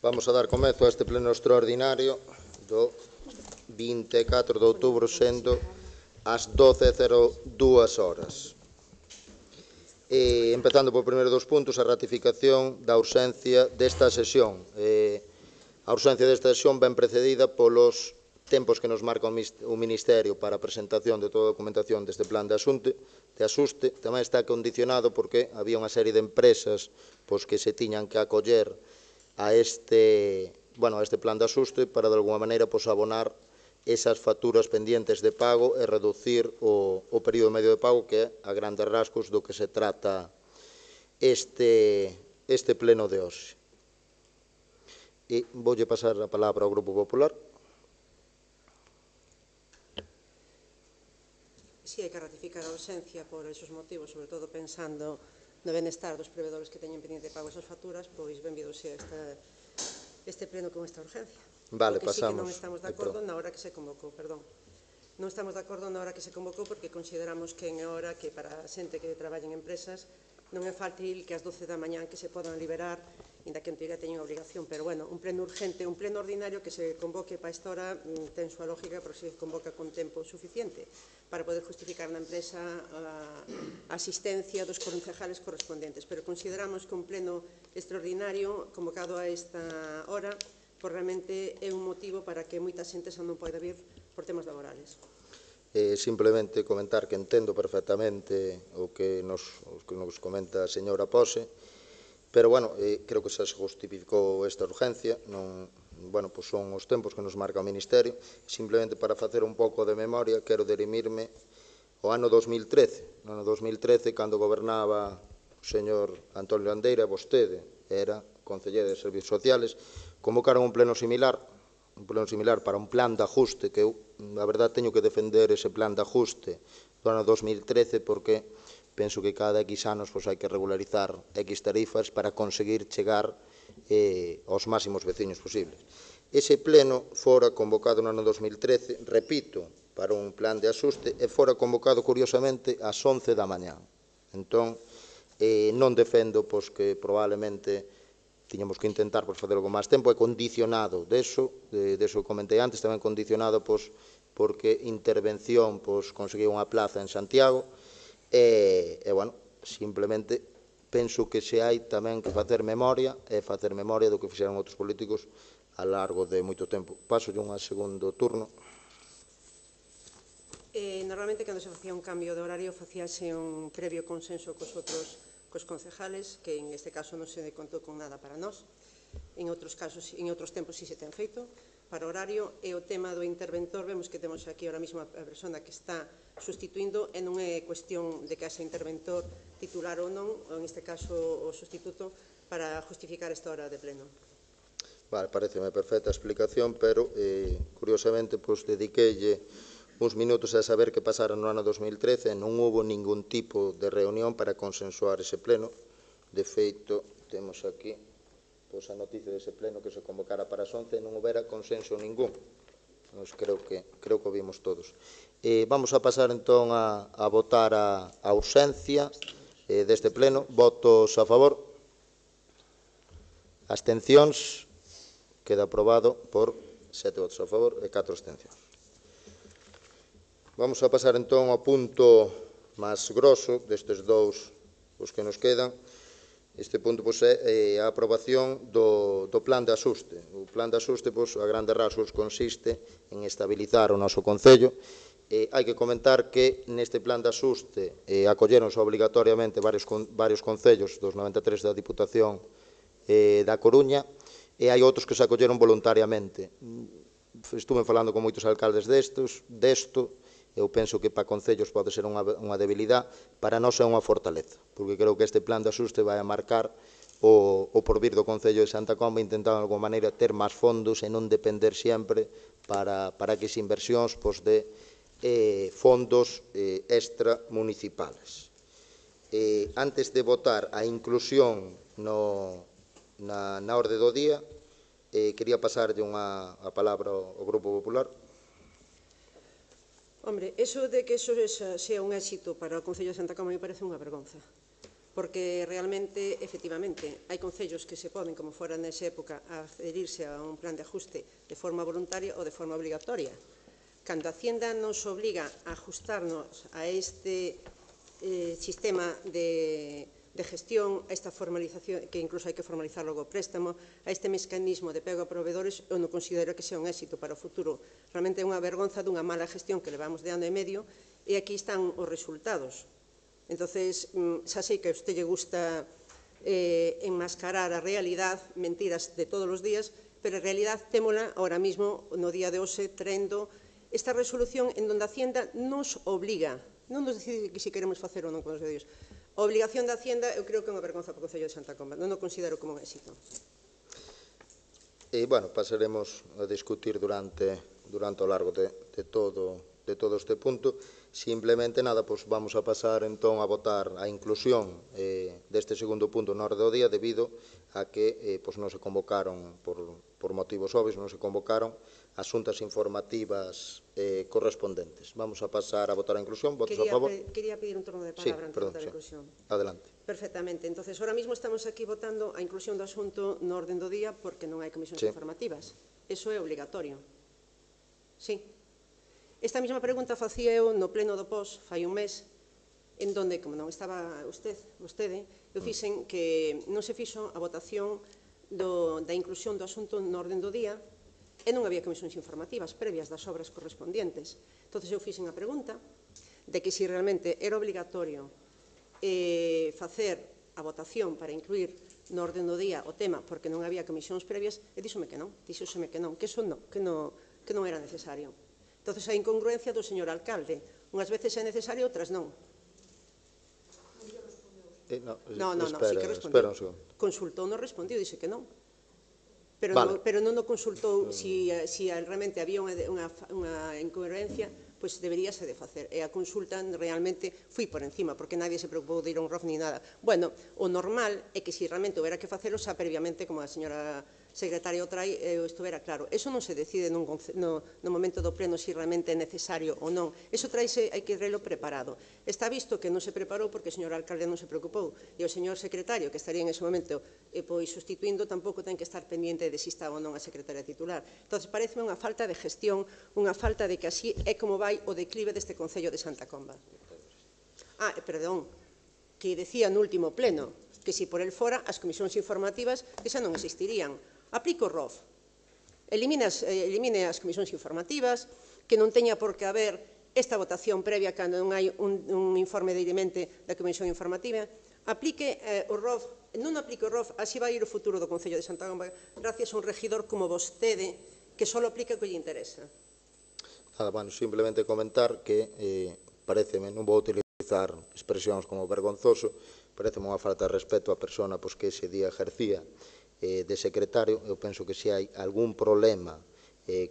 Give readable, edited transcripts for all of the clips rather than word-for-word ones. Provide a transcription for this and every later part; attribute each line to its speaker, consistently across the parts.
Speaker 1: Vamos a dar comezo a este pleno extraordinario do 24 de outubro, sendo as 12:02 horas. Empezando por primeiro dos puntos, a ratificación da urxencia desta sesión. A urxencia desta sesión ben precedida polos tempos que nos marca o Ministerio para a presentación de toda a documentación deste plan de axuste. Tamén está condicionado porque había unha serie de empresas que se tiñan que acoller a este plan de axuste para, de alguma maneira, abonar esas facturas pendientes de pago e reducir o período medio de pago, que é, a grandes rasgos, do que se trata este pleno de hoxe. E voulle pasar a palabra ao Grupo Popular.
Speaker 2: Si hai que ratificar a urxencia por esos motivos, sobre todo pensando no benestar dos proveedores que teñen pendiente de pago esas facturas, pois benvido sea este pleno con esta urxencia.
Speaker 1: Vale,
Speaker 2: porque
Speaker 1: pasamos.
Speaker 2: Sí que non estamos de acordo na hora que se convocou, Non estamos de acordo na hora que se convocou porque consideramos que é hora que para a xente que traballa en empresas non é fácil que ás 12 da mañán que se podan liberar, inda que en teoría teñen obligación, pero bueno, un pleno urgente, un pleno ordinario que se convoque para esta hora ten súa lógica, porque se convoca con tempo suficiente para poder justificar na empresa a asistencia dos concejales correspondentes. Pero consideramos que un pleno extraordinario convocado a esta hora realmente é un motivo para que moita xente xa non poida vir por temas laborales.
Speaker 1: Simplemente comentar que entendo perfectamente o que nos comenta a señora Pose, pero, creo que xa se justificou esta urgencia, son os tempos que nos marca o Ministerio. Simplemente para facer un pouco de memoria, quero dirimirme ao ano 2013. No ano 2013, cando gobernaba o señor Antonio Landeira, vostede era concelleiro de Servizos Sociales, convocaron un pleno similar para un plan de ajuste, que eu, a verdade, teño que defender ese plan de ajuste do ano 2013, porque penso que cada X anos hai que regularizar X tarifas para conseguir chegar aos máximos veciños posibles. Ese pleno fora convocado no ano 2013, repito, para un plan de axuste, e fora convocado, curiosamente, ás 11 da mañán. Entón, non defendo que probablemente tiñamos que intentar facelo con máis tempo, é condicionado deso que comentei antes, tamén condicionado porque intervención conseguiu unha plaza en Santiago, simplemente penso que se hai tamén que facer memoria do que fixeron outros políticos a largo de moito tempo. Paso un segundo turno.
Speaker 2: Normalmente, cando se facía un cambio de horario, facíase un previo consenso cos concejales, que en este caso non se contou con nada para nós. En outros tempos sí se ten feito para horario, e o tema do interventor, vemos que temos aquí ahora mesmo a persona que está sustituindo, e non é cuestión de que haxa interventor titular ou non, ou en este caso o sustituto, para justificar esta hora de pleno.
Speaker 1: Vale, pareceme perfecta a explicación, pero, curiosamente, dediqueille uns minutos a saber que pasara no ano 2013 e non houve ningún tipo de reunión para consensuar ese pleno. De feito, temos aquí a noticia dese pleno que se convocara para as 11 e non houbera consenso ningún. Creo que o vimos todos. Vamos a pasar entón a votar a urxencia deste pleno. Votos a favor. Abstencións. Queda aprobado por 7 votos a favor e 4 abstencións. Vamos a pasar entón ao punto máis grosso destes dous que nos quedan. Este punto é a aprobación do plan de axuste. O plan de axuste, a grandes rasgos, consiste en estabilizar o noso concello. Hai que comentar que neste plan de axuste acolleronse obligatoriamente varios concellos dos 93 da Diputación da Coruña, e hai outros que se acolleron voluntariamente. Estuve falando con moitos alcaldes desto. Eu penso que para concellos pode ser unha debilidade, para nós é unha fortaleza, porque creo que este plan de axuste vai a marcar o porvir do Concello de Santa Comba, intentando de alguma maneira ter máis fondos e non depender sempre para que as inversións de fondos extramunicipales. Antes de votar a inclusión na orde do día, quería pasarlle a palabra ao Grupo Popular.
Speaker 2: Hombre, eso de que eso sea un éxito para o Concello de Santa Comba me parece unha vergonza. porque realmente, efectivamente, hai concellos que se poden, como fora nesa época, a adherirse a un plan de ajuste de forma voluntaria ou de forma obligatoria. Cando a Hacienda nos obliga a ajustarnos a este sistema de gestión, a esta formalización, que incluso hai que formalizar logo o préstamo, a este mecanismo de pego a proveedores, eu non considero que sea un éxito para o futuro. Realmente é unha vergonza dunha mala gestión que levamos de ano e medio, e aquí están os resultados. Entonces, xa sei que a usted lle gusta enmascarar a realidad, mentiras de todos os días, pero a realidad témola ahora mismo, no día de hoxe, traendo esta resolución en donde a Hacienda nos obliga, non nos decide que se queremos facer ou non con os medios. A obligación da Hacienda, eu creo que é unha vergonza para o Concello de Santa Comba, non o considero como un éxito.
Speaker 1: E, bueno, pasaremos a discutir durante o largo de todo este punto. Simplemente, nada, pois vamos a pasar entón a votar a inclusión deste segundo punto na orde do día debido a que pois non se convocaron, por motivos obvios, non se convocaron as xuntas informativas correspondentes. Vamos a pasar a votar a inclusión. Votos a favor?
Speaker 2: Quería pedir un turno de palabra antes de votar a inclusión.
Speaker 1: Adelante.
Speaker 2: Perfectamente. Entonces, ahora mismo estamos aquí votando a inclusión do asunto no orden do día porque non hai comisións informativas. Eso é obligatorio. Sí. Esta mesma pregunta facía eu no pleno do POS fai un mes, en donde, como non estaba vostede, eu fixen que non se fixo a votación da inclusión do asunto no orden do día e non había comisións informativas previas das obras correspondientes. Entón, eu fixen a pregunta de que se realmente era obligatorio facer a votación para incluir no orden do día o tema porque non había comisións previas e díxome que non, que eso non, que non era necesario. Entón, a incongruencia do señor alcalde. Unhas veces é necesario, outras non. Non, sí que respondeu. Consultou, non respondiu, dixe que non. Pero non o consultou si realmente había unha incongruencia, pois deberíase de facer. E a consulta realmente foi por encima, porque nadie se preocupou de ir a un ROF ni nada. Bueno, o normal é que si realmente houbera que facelo xa previamente, como a señora secretaria o trai, estuvera claro. Eso non se decide no momento do pleno se realmente é necesario ou non. Eso traise, hai que relo preparado. Está visto que non se preparou porque o señor alcalde non se preocupou e o señor secretario, que estaría en ese momento pois sustituindo, tampouco ten que estar pendiente de se está ou non a secretaria titular. Entón, pareceme unha falta de gestión, unha falta de que así é como vai o declive deste Concello de Santa Comba. Perdón, que decía no último pleno que se por el fora as comisións informativas que xa non existirían. Aplique o ROF, elimine as comisións informativas, que non teña por que haber esta votación previa cando non hai un informe dirimente da comisión informativa, aplique o ROF, non aplique o ROF, así vai ir o futuro do Concello de Santa Comba, gracias a un regidor como vostede, que só aplica o que lle interesa.
Speaker 1: Nada, bueno, simplemente comentar que pareceme, non vou utilizar expresións como vergonzoso, pareceme unha falta de respeto á persona que ese día ejercía de secretario. Eu penso que se hai algún problema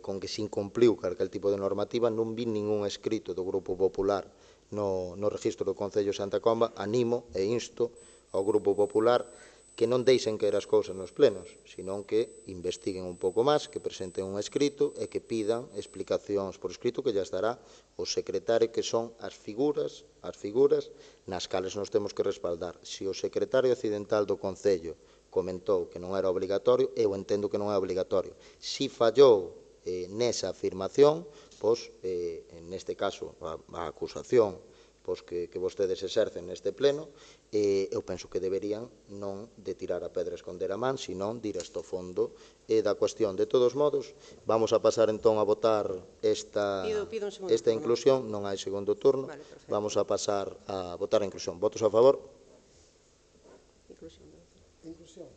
Speaker 1: con que se incumpliu calquer tipo de normativa, non vi ningún escrito do Grupo Popular no registro do Concello de Santa Comba. Animo e insto ao Grupo Popular que non deixen caer as cousas nos plenos, senón que investiguen un pouco máis, que presenten un escrito e que pidan explicacións por escrito que ya estará o secretario, que son as figuras nas cales nos temos que respaldar. Se o secretario accidental do Concello comentou que non era obligatorio, eu entendo que non é obligatorio. Si fallou nesa afirmación, pois, neste caso, a acusación que vostedes exercen neste pleno, eu penso que deberían non de tirar a pedra e esconder a man, senón de ir hasta o fondo da cuestión. De todos modos, vamos a pasar entón a votar esta inclusión, non hai segundo turno, vamos a pasar a votar a inclusión. Votos a favor?
Speaker 3: Inclusión.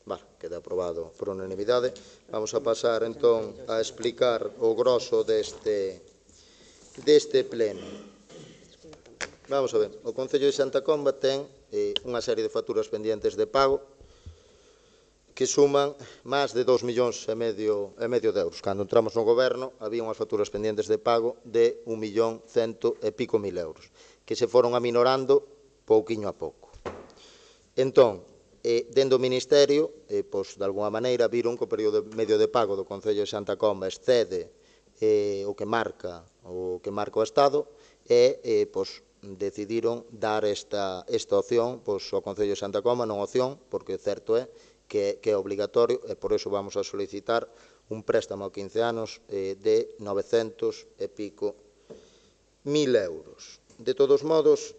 Speaker 1: Vale, queda aprobado por unanimidade. Vamos a pasar entón a explicar o grosso deste pleno. Vamos a ver, o Concello de Santa Comba ten unha serie de facturas pendientes de pago que suman máis de 2,5 millóns de euros. Cando entramos no goberno había unhas facturas pendientes de pago de 1.100.000 e pico euros, que se foron aminorando pouquiño a pouco. Entón, dentro do Ministerio, de alguna maneira, viron que o período medio de pago do Concello de Santa Comba excede o que marca o Estado e decidiron dar esta opción ao Concello de Santa Comba, non opción, porque certo é que é obligatorio, e por iso vamos a solicitar un préstamo a 15 anos de 900 e pico mil euros. De todos modos,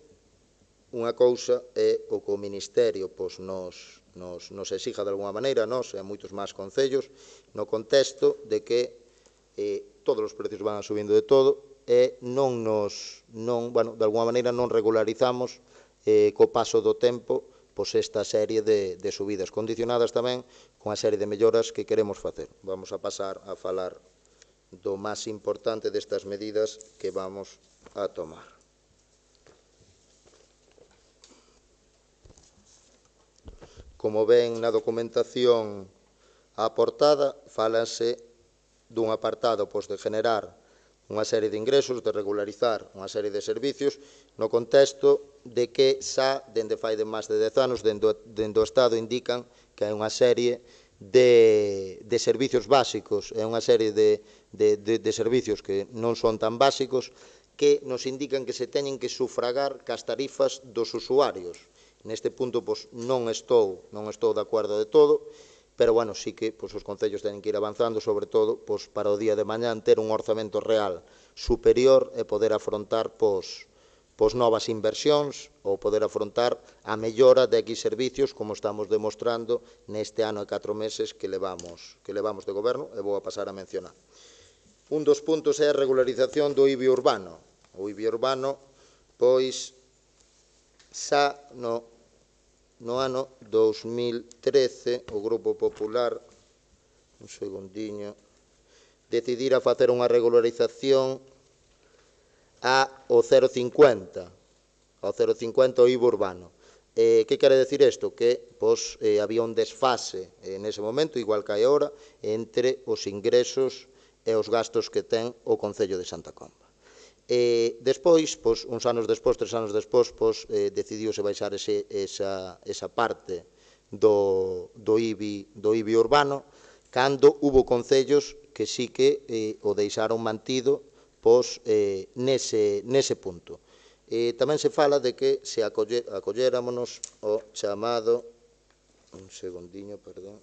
Speaker 1: unha cousa é o que o Ministerio nos exija de alguna maneira, nos e a moitos máis concellos, no contexto de que todos os precios van subindo de todo, e de alguna maneira non regularizamos co paso do tempo esta serie de subidas, condicionadas tamén con a serie de melloras que queremos facer. Vamos a pasar a falar do máis importante destas medidas que vamos a tomar. Como ven na documentación aportada, fálase dun apartado de generar unha serie de ingresos, de regularizar unha serie de servicios, no contexto de que xa, dende fai de máis de 10 anos, dende o Estado indican que hai unha serie de servicios básicos, é unha serie de servicios que non son tan básicos, que nos indican que se teñen que sufragar cas tarifas dos usuarios. Neste punto non estou de acordo de todo, pero, bueno, sí que os concellos teñen que ir avanzando, sobre todo, para o día de mañán ter un orzamento real superior e poder afrontar novas inversións ou poder afrontar a mellora de X servicios, como estamos demostrando neste ano e 4 meses que levamos de goberno, e vou a pasar a mencionar. Un dos puntos é a regularización do IBI urbano. O IBI urbano, xa no ano 2013, o Grupo Popular, un segundiño, decidira facer unha regularización ao 0,50, o IBI urbano. Que quere decir isto? Que había un desfase nese momento, igual que hai agora, entre os ingresos e os gastos que ten o Concello de Santa Comba. Despois, uns anos despois, 3 anos despois, decidiuse baixar esa parte do IBI urbano, cando hubo concellos que sí que o deixaron mantido nese punto. Tamén se fala de que se acolléramonos ao chamado, un segundiño, perdón,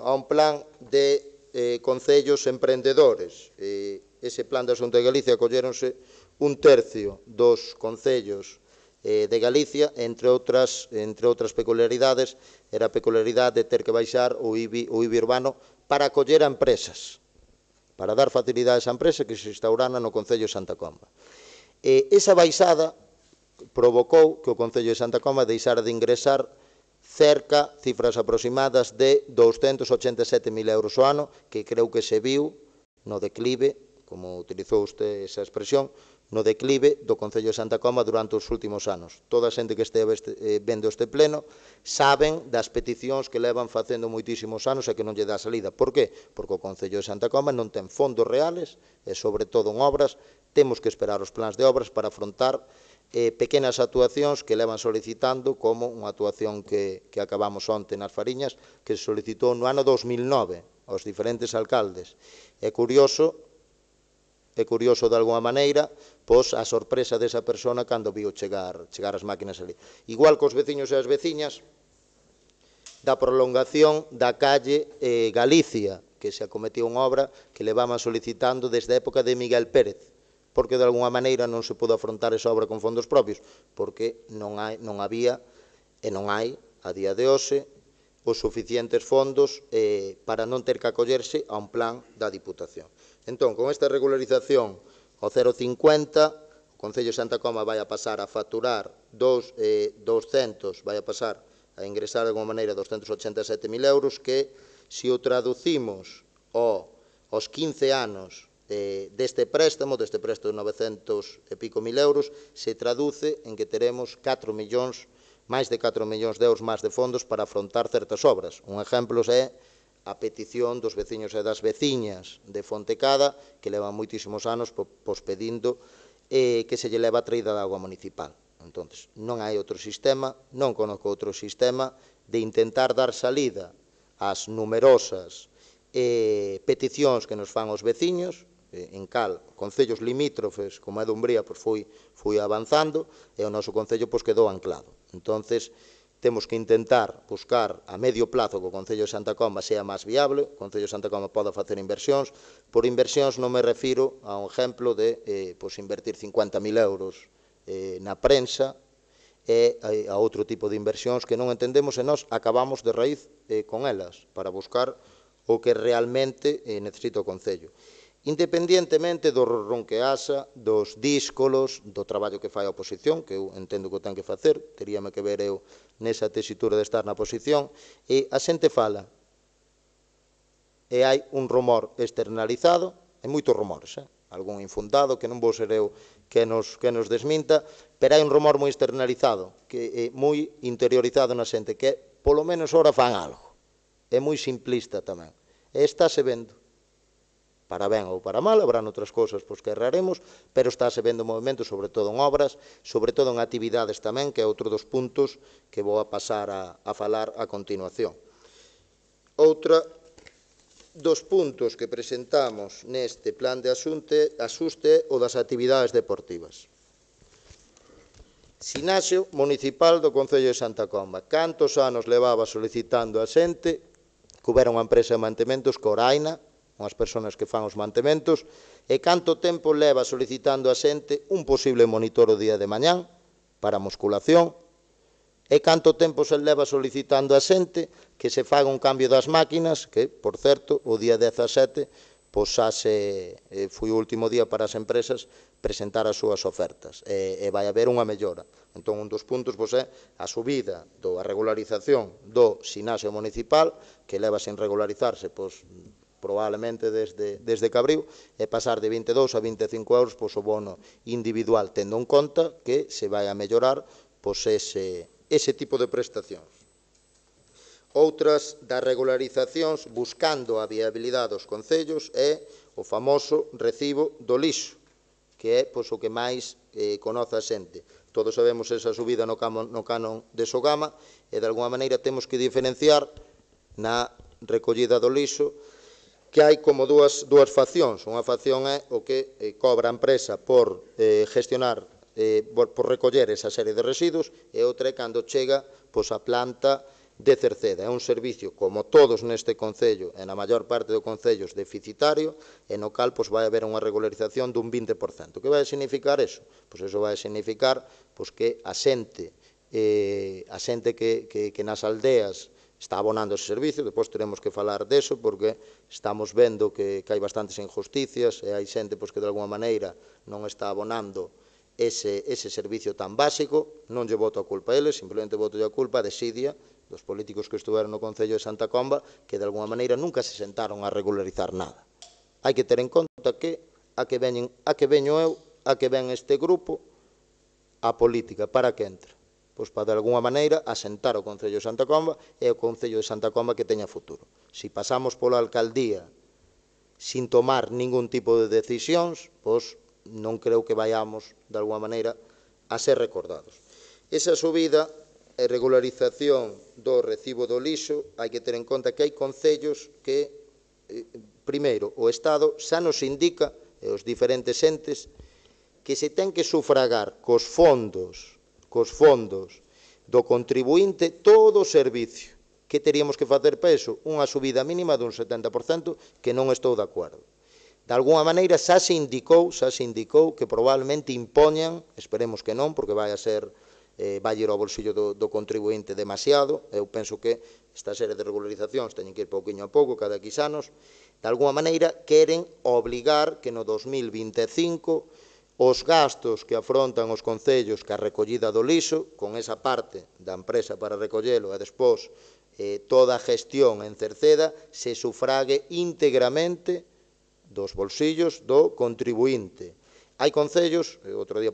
Speaker 1: a un plan de concellos emprendedores. Ese plan da Xunta de Galicia acolléronse un tercio dos concellos de Galicia, entre outras peculiaridades, era a peculiaridade de ter que baixar o IBI urbano para acoller a empresas, para dar facilidades a empresas que se instauraran no Concello de Santa Comba. Esa baixada provocou que o Concello de Santa Comba deixara de ingresar cifras aproximadas de 287.000 euros ao ano, que creo que se viu no declive, como utilizou usted esa expresión, no declive do Concello de Santa Comba durante os últimos anos. Toda a xente que este vendo este pleno saben das peticións que levan facendo moitísimos anos e que non lle dá salida. Por qué? Porque o Concello de Santa Comba non ten fondos reales e, sobre todo en obras, temos que esperar os plans de obras para afrontar pequenas actuacións que levan solicitando, como unha actuación que acabamos onte nas Fariñas, que se solicitou no ano 2009 aos diferentes alcaldes. É curioso de alguma maneira a sorpresa desa persona cando viu chegar as máquinas ali. Igual cos veciños e as veciñas da prolongación da calle Galicia, que se acometeu unha obra que levaban solicitando desde a época de Miguel Pérez, porque de alguna maneira non se pudo afrontar esa obra con fondos propios, porque non había e non hai, a día de hoxe, os suficientes fondos para non ter que acollerse a un plan da Diputación. Entón, con esta regularización ao 0,50, o Concello de Santa Comba vai a pasar a facturar 200, vai a pasar a ingresar de alguma maneira 287.000 euros, que, se o traducimos aos 15 anos deste préstamo de 900 e pico mil euros, se traduce en que teremos máis de 4 millóns de euros máis de fondos para afrontar certas obras. Un exemplo é a petición dos veciños e das veciñas de Fontecada, que levan moitísimos anos pedindo que se lle leva a traída de auga municipal. Entón, non hai outro sistema, non conozco outro sistema de intentar dar salida ás numerosas peticións que nos fan os veciños, en cal concellos limítrofes, como é Dumbría, pois foi avanzando, e o noso concello pois quedou anclado. Entonces, temos que intentar buscar a medio plazo que o Concello de Santa Comba sea máis viable, o Concello de Santa Comba poda facer inversións. Por inversións non me refiro a un exemplo de invertir 50.000 euros na prensa e a outro tipo de inversións que non entendemos e nós acabamos de raíz con elas para buscar o que realmente necesita o Concello. Independientemente do ron que asa, dos díscolos, do traballo que fai a oposición, que eu entendo que o ten que facer, teríame que ver eu nesa tesitura de estar na oposición, e a xente fala, e hai un rumor externalizado, e moitos rumores, algún infundado, que non vou ser eu que nos desminta, pero hai un rumor moi externalizado, que é moi interiorizado na xente, que polo menos ora fan algo. É moi simplista tamén. E estáse vendo. Para ben ou para mal, habrá outras cousas pois, que erraremos, pero estáse vendo movimento, sobre todo en obras, sobre todo en actividades tamén, que é outro dos puntos que vou a pasar a falar a continuación. Outra dos puntos que presentamos neste plan de axuste o das actividades deportivas. Ximnasio municipal do Concello de Santa Comba. Cantos anos levaba solicitando a xente que houbera unha empresa de mantementos, Coraina, unhas persoas que fan os mantementos, e canto tempo leva solicitando a xente un posible monitor o día de mañán para a musculación, e canto tempo se leva solicitando a xente que se faga un cambio das máquinas, que, por certo, o día 17, pois xa foi o último día para as empresas presentar as súas ofertas, e vai haber unha mellora. Entón, un dos puntos pois, é a subida da regularización do ximnasio municipal, que leva sin regularizarse, pois, probablemente desde que abriu, e pasar de 22 a 25 euros pois, o bono individual, tendo en conta que se vai a mellorar pois, ese tipo de prestacións. Outras das regularizacións, buscando a viabilidade dos concellos, é o famoso recibo do lixo, que é pois, o que máis conoce a xente. Todos sabemos esa subida no canon de Sogama, e de alguma maneira temos que diferenciar na recollida do lixo que hai como dúas faccións. Unha facción é o que cobra a empresa por gestionar, por recoller esa serie de residuos, e outra é cando chega pois, a planta de Cerceda. É un servicio, como todos neste Concello, e na maior parte do Concello, deficitario, e no cal pois, vai haber unha regularización dun 20%. Que vai significar eso? Pois eso vai significar pois, que a xente que nas aldeas está abonando ese servicio, depois teremos que falar deso, porque estamos vendo que hai bastantes injusticias, e hai xente pois, que de alguma maneira non está abonando ese servicio tan básico. Non lle voto a culpa a eles, simplemente voto a culpa a desidia dos políticos que estuveron no Concello de Santa Comba, que de alguma maneira nunca se sentaron a regularizar nada. Hai que ter en conta que a que veño eu, a que ven este grupo, a política, para que entre? Pois para, de alguma maneira, asentar o Concello de Santa Comba e o Concello de Santa Comba que teña futuro. Se pasamos pola alcaldía sin tomar ningún tipo de decisións, pois non creo que vayamos, de alguma maneira, a ser recordados. Esa subida e regularización do recibo do lixo, hai que ter en conta que hai concellos que, primeiro, o Estado xa nos indica, e os diferentes entes, que se ten que sufragar cos fondos do contribuinte todo o servicio. Que teríamos que facer para iso? Unha subida mínima dun 70%, que non estou de acordo. De alguna maneira xa se indicou que probablemente impoñan, esperemos que non, porque vai ir ao bolsillo do contribuinte demasiado. Eu penso que esta serie de regularizacións teñen que ir pouquinho a pouco, cada X anos. De alguna maneira queren obligar que no 2025 os gastos que afrontan os concellos que a recollida do lixo, con esa parte da empresa para recollelo e despois toda a gestión en Cerceda, se sufrague íntegramente dos bolsillos do contribuinte. Hai concellos, outro día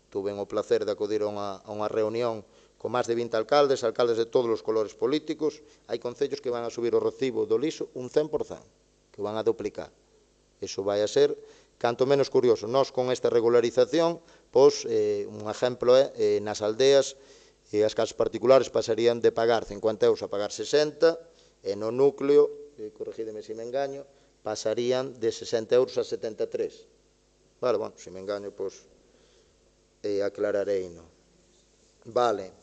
Speaker 1: tuve o placer de acudir a unha reunión con máis de 20 alcaldes de todos os colores políticos. Hai concellos que van a subir o recibo do lixo un 100%, que van a duplicar. Iso vai a ser canto menos curioso. Nós, con esta regularización, pois, un exemplo é, nas aldeas, as casas particulares pasarían de pagar 50 euros a pagar 60, e no núcleo, corregídeme se me engaño, pasarían de 60 euros a 73. Vale, bueno, se me engaño, pois aclararei, non? Vale.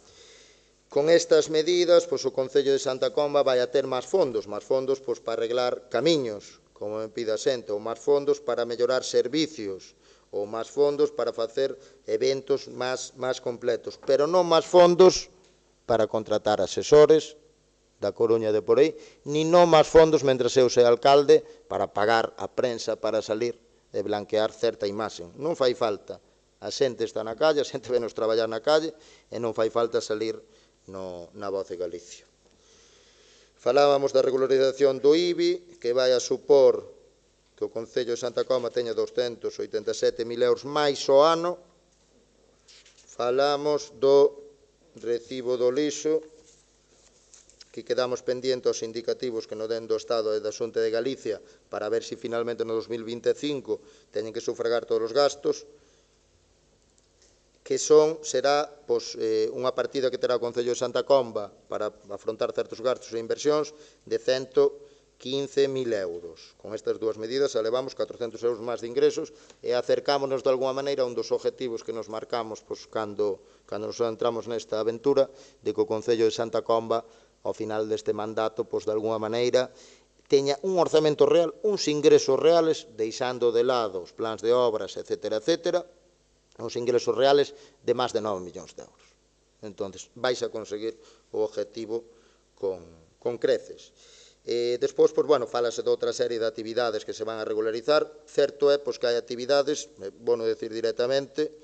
Speaker 1: Con estas medidas, pois o Concello de Santa Comba vai a ter máis fondos pois para arreglar camiños, como me pide a xente, ou máis fondos para mellorar servicios, ou máis fondos para facer eventos máis completos, pero non máis fondos para contratar asesores da Coruña de por aí, nin non máis fondos, mentre eu sei alcalde, para pagar a prensa para salir e blanquear certa imaxe. Non fai falta. A xente está na calle, a xente venos traballar na calle e non fai falta salir na Voz de Galicia. Falábamos da regularización do IBI, que vai a supor que o Concello de Santa Comba teña 287.000 euros máis ao ano. Falamos do recibo do lixo, que quedamos pendientes aos indicativos que nos den do Estado e da Xunta de Galicia para ver se finalmente no 2025 teñen que sufragar todos os gastos, que será unha partida que terá o Concello de Santa Comba para afrontar certos gastos e inversións de 115.000 euros. Con estas dúas medidas elevamos 400 euros máis de ingresos e acercámonos de alguma maneira a un dos objetivos que nos marcamos cando nos entramos nesta aventura de que o Concello de Santa Comba ao final deste mandato, de alguma maneira, teña un orzamento real, uns ingresos reales, deixando de lado os plans de obras, etc., uns ingresos reales de máis de 9 millóns de euros. Entón, vais a conseguir o objetivo con creces. Despois, falase de outra serie de actividades que se van a regularizar. Certo é que hai actividades, vou non decir directamente,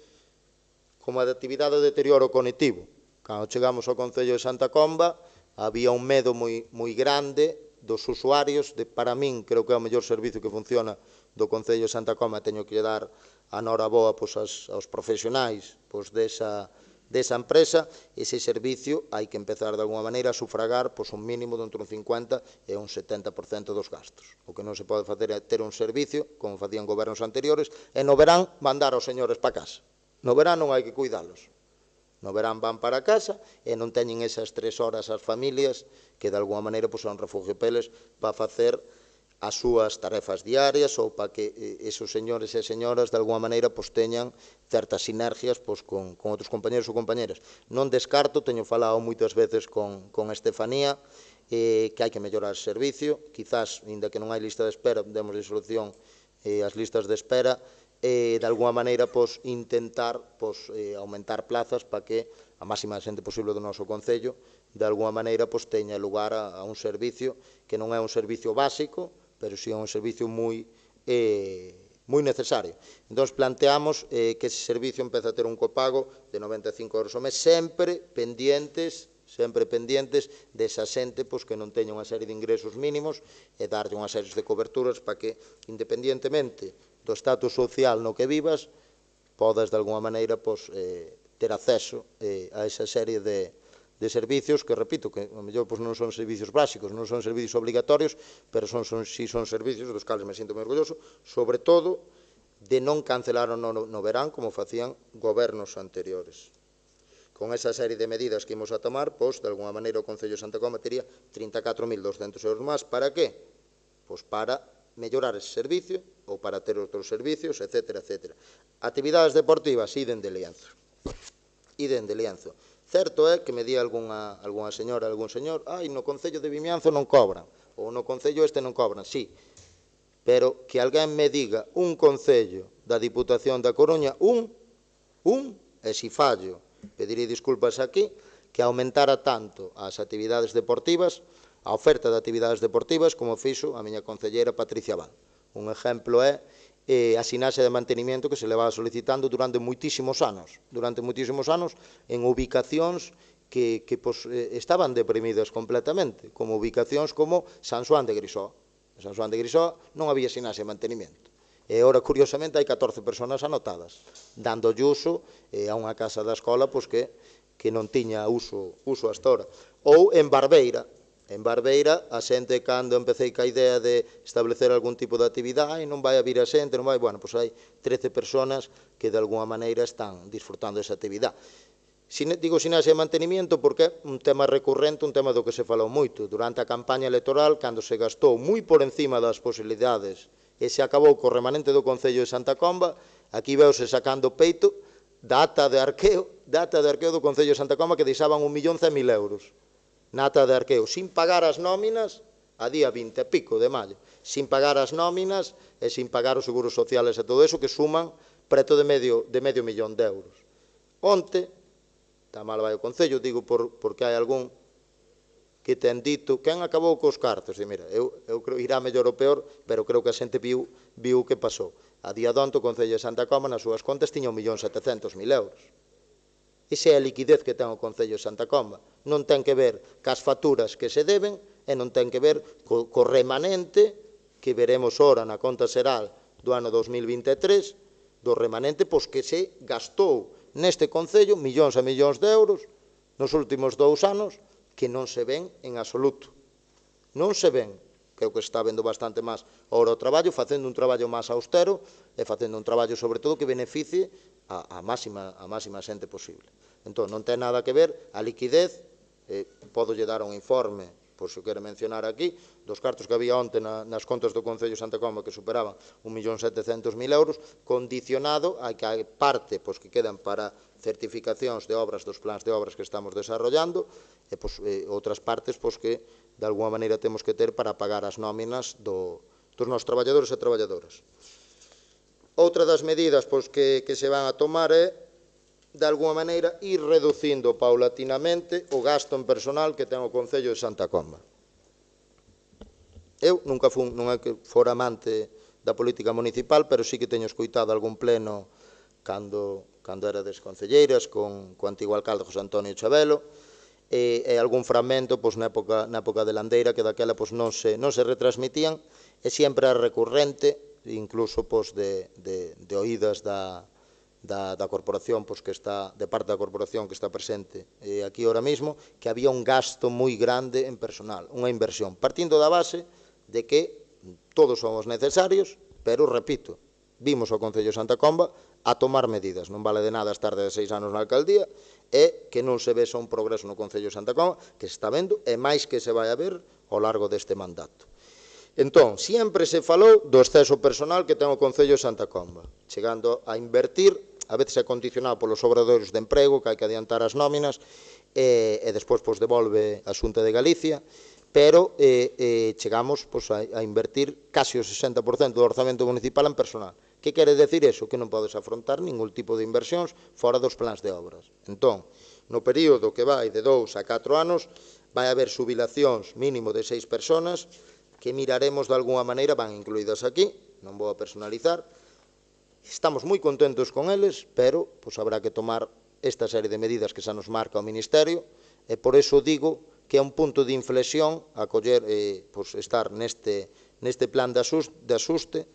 Speaker 1: como a de actividade de deterioro cognitivo. Cando chegamos ao Concello de Santa Comba, había un medo moi grande dos usuarios. Para min, creo que é o mellor servicio que funciona do Concello de Santa Comba. Teño que dar a noraboa aos profesionais desa empresa. Ese servicio hai que empezar de alguma maneira a sufragar un mínimo de entre un 50% e un 70% dos gastos. O que non se pode facer é ter un servicio, como facían gobernos anteriores, e no verán mandar aos señores para casa. No verán non hai que cuidalos. No verán van para casa e non teñen esas 3 horas as familias que de alguma maneira son un refugio peles para facer as súas tarefas diarias ou para que esos señores e señoras de alguma maneira teñan certas sinergias con outros compañeros ou compañeras. Non descarto, teño falado moitas veces con Estefanía, que hai que mellorar o servicio. Quizás, inda que non hai lista de espera, demos de solución as listas de espera, de alguma maneira intentar aumentar plazas para que a máxima xente posible do noso Concello de alguma maneira teña lugar a un servicio que non é un servicio básico, pero si é un servicio moi necesario. Entón planteamos que ese servicio empece a ter un copago de 95 euros ao mes, sempre pendientes desa xente que non teña unha serie de ingresos mínimos e darlle unha serie de coberturas para que, independientemente do estatus social no que vivas, podas de alguma maneira ter acceso a esa serie de servicios que, repito, que ao mellor non son servicios básicos, non son servicios obligatorios, pero si son servicios dos cales me sinto moi orgulloso, sobre todo de non cancelar no verán como facían gobernos anteriores. Con esa serie de medidas que imos a tomar, de alguma maneira o Concello de Santa Comba tería 34.200 euros máis. Para que? Para mellorar ese servicio ou para ter outros servicios, etc. Actividades deportivas, idem de lienzo. Certo é que me di algunha señora, algún señor, no Concello de Vimianzo non cobran, ou no Concello este non cobran, sí, pero que alguén me diga un Concello da Diputación da Coruña, e si fallo, pedirei disculpas aquí, que aumentara tanto as actividades deportivas, a oferta de actividades deportivas, como fixo a miña concelleira Patricia Val. Un exemplo é a sinaixa de mantenimiento que se levaba solicitando durante moitísimos anos, en ubicacións que estaban deprimidas completamente, como ubicacións como San Xoán de Grisó. En San Xoán de Grisó non había sinaixa de mantenimiento. E ora, curiosamente, hai 14 persoas anotadas, dando uso a unha casa da escola que non tiña uso hasta ora. Ou en Barbeira, a xente, cando empecé ca idea de establecer algún tipo de actividade, non vai a vir a xente, hai 13 persoas que de alguma maneira están disfrutando desa actividade. Digo sinexia e mantenimiento porque é un tema recurrente, un tema do que se falou moito. Durante a campaña electoral, cando se gastou moi por encima das posibilidades e se acabou co remanente do Concello de Santa Comba, aquí veuse sacando peito da ata de arqueo do Concello de Santa Comba que deixaban 1.100.000 euros na ata de arqueo, sin pagar as nóminas a día 20 e pico de maio, sin pagar as nóminas e sin pagar os seguros sociales e todo eso que suman preto de medio millón de euros. Onte, está mal vai o Concello, digo porque hai algún que ten dito quen acabou cos cartos, e mira, eu creo irá mellor ou peor, pero creo que a xente viu o que pasou. A día de onte o Concello de Santa Comba nas súas contas tiña 1.700.000 euros. Esa é a liquidez que ten o Concello de Santa Comba. Non ten que ver cas facturas que se deben e non ten que ver co remanente que veremos ora na conta xeral do ano 2023, do remanente que se gastou neste Concello millóns e millóns de euros nos últimos 2 anos que non se ven en absoluto. Non se ven. Creo que se está vendo bastante máis ora o traballo, facendo un traballo máis austero e facendo un traballo, sobre todo, que beneficie a máxima xente posible. Entón, non ten nada que ver a liquidez, podo lle dar un informe, por se o quere mencionar aquí, dos cartos que había onte nas contas do Concello de Santa Comba que superaban 1.700.000 euros, condicionado a que hai parte que quedan para certificacións de obras dos plans de obras que estamos desarrollando e outras partes que de alguma maneira temos que ter para pagar as nóminas dos nosos traballadores e traballadoras. Outra das medidas que se van a tomar é, de alguma maneira, ir reducindo paulatinamente o gasto en personal que ten o Concello de Santa Comba. Eu nunca non é que fora amante da política municipal, pero sí que teño escoitado algún pleno cando erades concelleiras, co antigo alcalde José Antonio Chabelo, e algún fragmento na época de Landeira que daquela non se retransmitían, e sempre é recurrente, incluso de oídas da corporación que está, de parte da corporación que está presente aquí ahora mismo, que había un gasto moi grande en personal, unha inversión, partindo da base de que todos somos necesarios, pero, repito, vimos ao Concello de Santa Comba a tomar medidas. Non vale de nada estar de 6 anos na alcaldía e que non se vexa un progreso no Concello de Santa Comba, que se está vendo, e máis que se vai a ver ao largo deste mandato. Entón, sempre se falou do exceso personal que ten o Concello de Santa Comba, chegando a invertir, a veces é condicionado polos obradoiros de emprego, que hai que adiantar as nóminas, e despois devolve a Xunta de Galicia, pero chegamos a invertir casi o 60% do orzamento municipal en personal. Que quere decir iso? Que non podes afrontar ningún tipo de inversións fora dos plans de obras. Entón, no período que vai de 2 a 4 anos, vai haber xubilacións mínimo de 6 personas, que miraremos de alguna maneira, van incluídas aquí, non vou a personalizar. Estamos moi contentos con eles, pero habrá que tomar esta serie de medidas que xa nos marca o Ministerio, e por iso digo que é un punto de inflexión a coller, estar neste plan de axuste,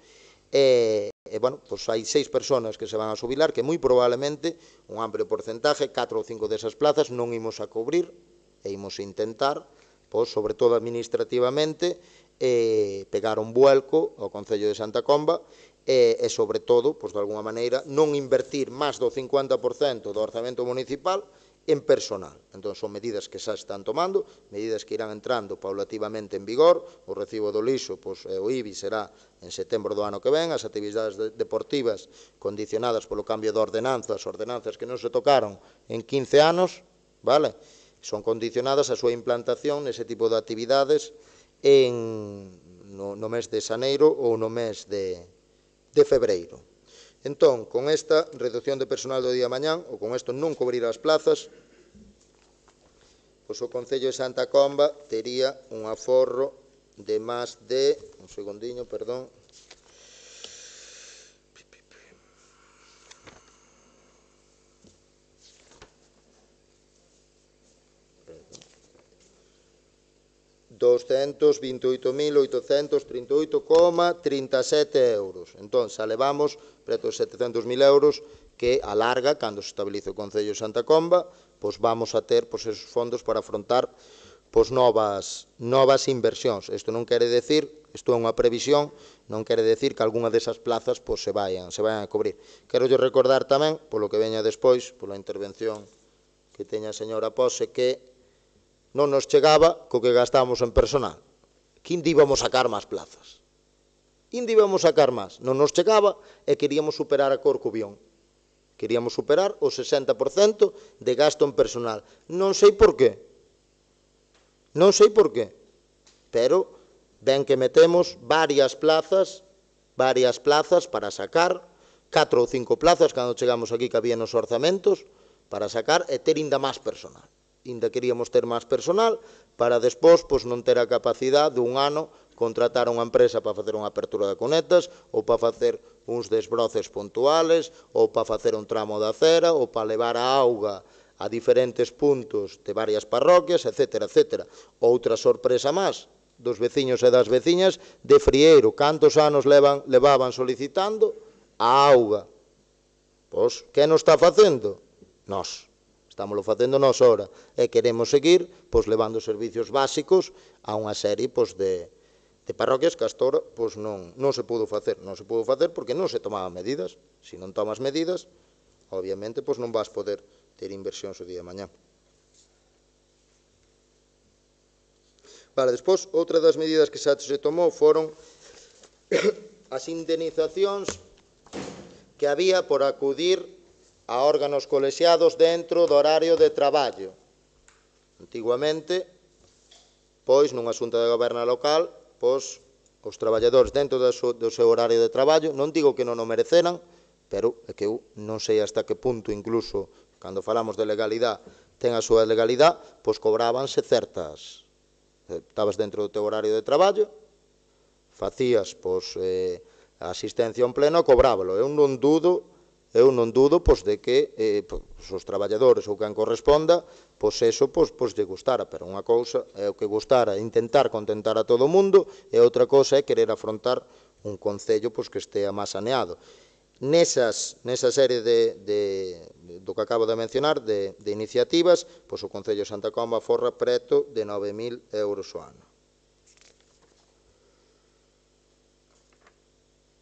Speaker 1: e, hai 6 personas que se van a xubilar, que moi probablemente, un amplio porcentaje, 4 ou 5 desas plazas non imos a cubrir, e imos a intentar, sobre todo administrativamente, pegar un vuelco ao Concello de Santa Comba, e, sobre todo, de alguna maneira, non invertir máis do 50% do orzamento municipal en personal. Entón, son medidas que xa están tomando, medidas que irán entrando paulativamente en vigor. O recibo do lixo, o IBI, será en setembro do ano que ven. As actividades deportivas condicionadas polo cambio de ordenanzas que non se tocaron en 15 anos, son condicionadas a súa implantación nese tipo de actividades no mes de xaneiro ou no mes de febreiro. Entón, con esta reducción de personal do día mañán, ou con isto non cubrir as plazas, o Concello de Santa Comba tería un aforro de máis de, un segundiño, perdón, 228.838,37 euros. Entón, xa levamos preto de 700.000 euros que a larga, cando se estabilice o Concello de Santa Comba, vamos a ter esos fondos para afrontar novas inversións. Isto non quere decir, isto é unha previsión, non quere decir que algunha desas plazas se vayan a cubrir. Quero recordar tamén, polo que veña despois, pola intervención que teña a señora Pose que non nos chegaba co que gastamos en personal. Que inde íbamos sacar máis plazas. Inde íbamos sacar máis. Non nos chegaba e queríamos superar a Corcubión. Queríamos superar o 60% de gasto en personal. Non sei por qué. Non sei por qué. Pero ven que metemos varias plazas para sacar, 4 ou 5 plazas, cando chegamos aquí que había nos orzamentos, para sacar e ter ainda máis personal. Ainda queríamos ter máis personal para despois non ter a capacidade dun ano contratar unha empresa para facer unha apertura de cunetas ou para facer uns desbroces puntuales ou para facer un tramo de acera ou para levar a auga a diferentes puntos de varias parroquias, etc. etc. Outra sorpresa máis dos veciños e das veciñas de Frieiro. Cantos anos levaban solicitando a auga? Pois, que non está facendo? Nós. Estámoslo facendo nós ahora. E queremos seguir levando servicios básicos a unha serie de parroquias que hasta ahora non se pudo facer. Non se pudo facer porque non se tomaban medidas. Se non tomas medidas, obviamente non vas poder ter inversións o día de mañá. Vale, despois, outra das medidas que xa se tomou foron as indemnizacións que había por acudir a órganos colexiados dentro do horario de traballo. Antiguamente, nunha xunta de goberno local, os traballadores dentro do seu horario de traballo, non digo que non o mereceran, pero é que eu non sei hasta que punto, incluso, cando falamos de legalidade, ten a súa legalidade, cobrábanse certas. Estabas dentro do teu horario de traballo, facías a asistencia en pleno e cobrábalo. Eu non dudo de que os traballadores ou quen corresponda, eso lle gustara, pero unha cousa é o que gustara, intentar contentar a todo o mundo, e outra cousa é querer afrontar un concello que estea máis saneado. Nesa serie do que acabo de mencionar, de iniciativas, o Concello de Santa Comba aforra preto de 9.000 euros ao ano.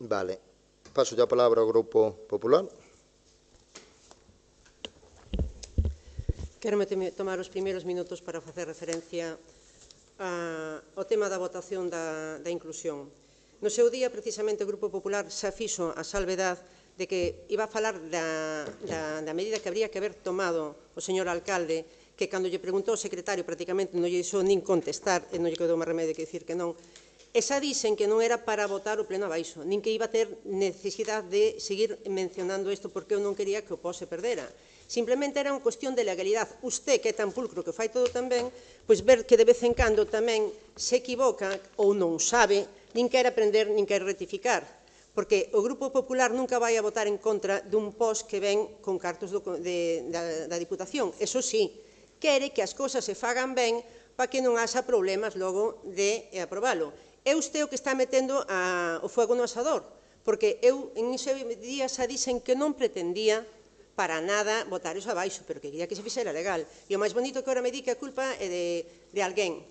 Speaker 1: Vale, paso a palabra ao Grupo Popular.
Speaker 2: Quero tomar os primeiros minutos para facer referencia ao tema da votación da inclusión. No seu día, precisamente, o Grupo Popular xa fixo a salvedad de que iba a falar da medida que habría que haber tomado o señor alcalde, que cando lle preguntou o secretario prácticamente non lle deixou nin contestar e non lle quedou máis remedio que dicir que non. E xa dixen que non era para votar o pleno abaixo, nin que iba a ter necesidade de seguir mencionando isto porque eu non quería que o POS se perdera. Simplemente era unha cuestión de legalidade. Usted, que é tan pulcro que fai todo tan ben, ver que de vez en cando tamén se equivoca ou non sabe, nin quer aprender, nin quer rectificar. Porque o Grupo Popular nunca vai a votar en contra dun POS que ven con cartos da Diputación. Eso sí, quere que as cousas se fagan ben para que non haxa problemas logo de aprobalo. É usted o que está metendo o fuego no asador, porque eu en ese día xa dixen que non pretendía para nada votar iso abaixo, pero que quería que se fixera legal. E o máis bonito que agora me di que a culpa é de alguén.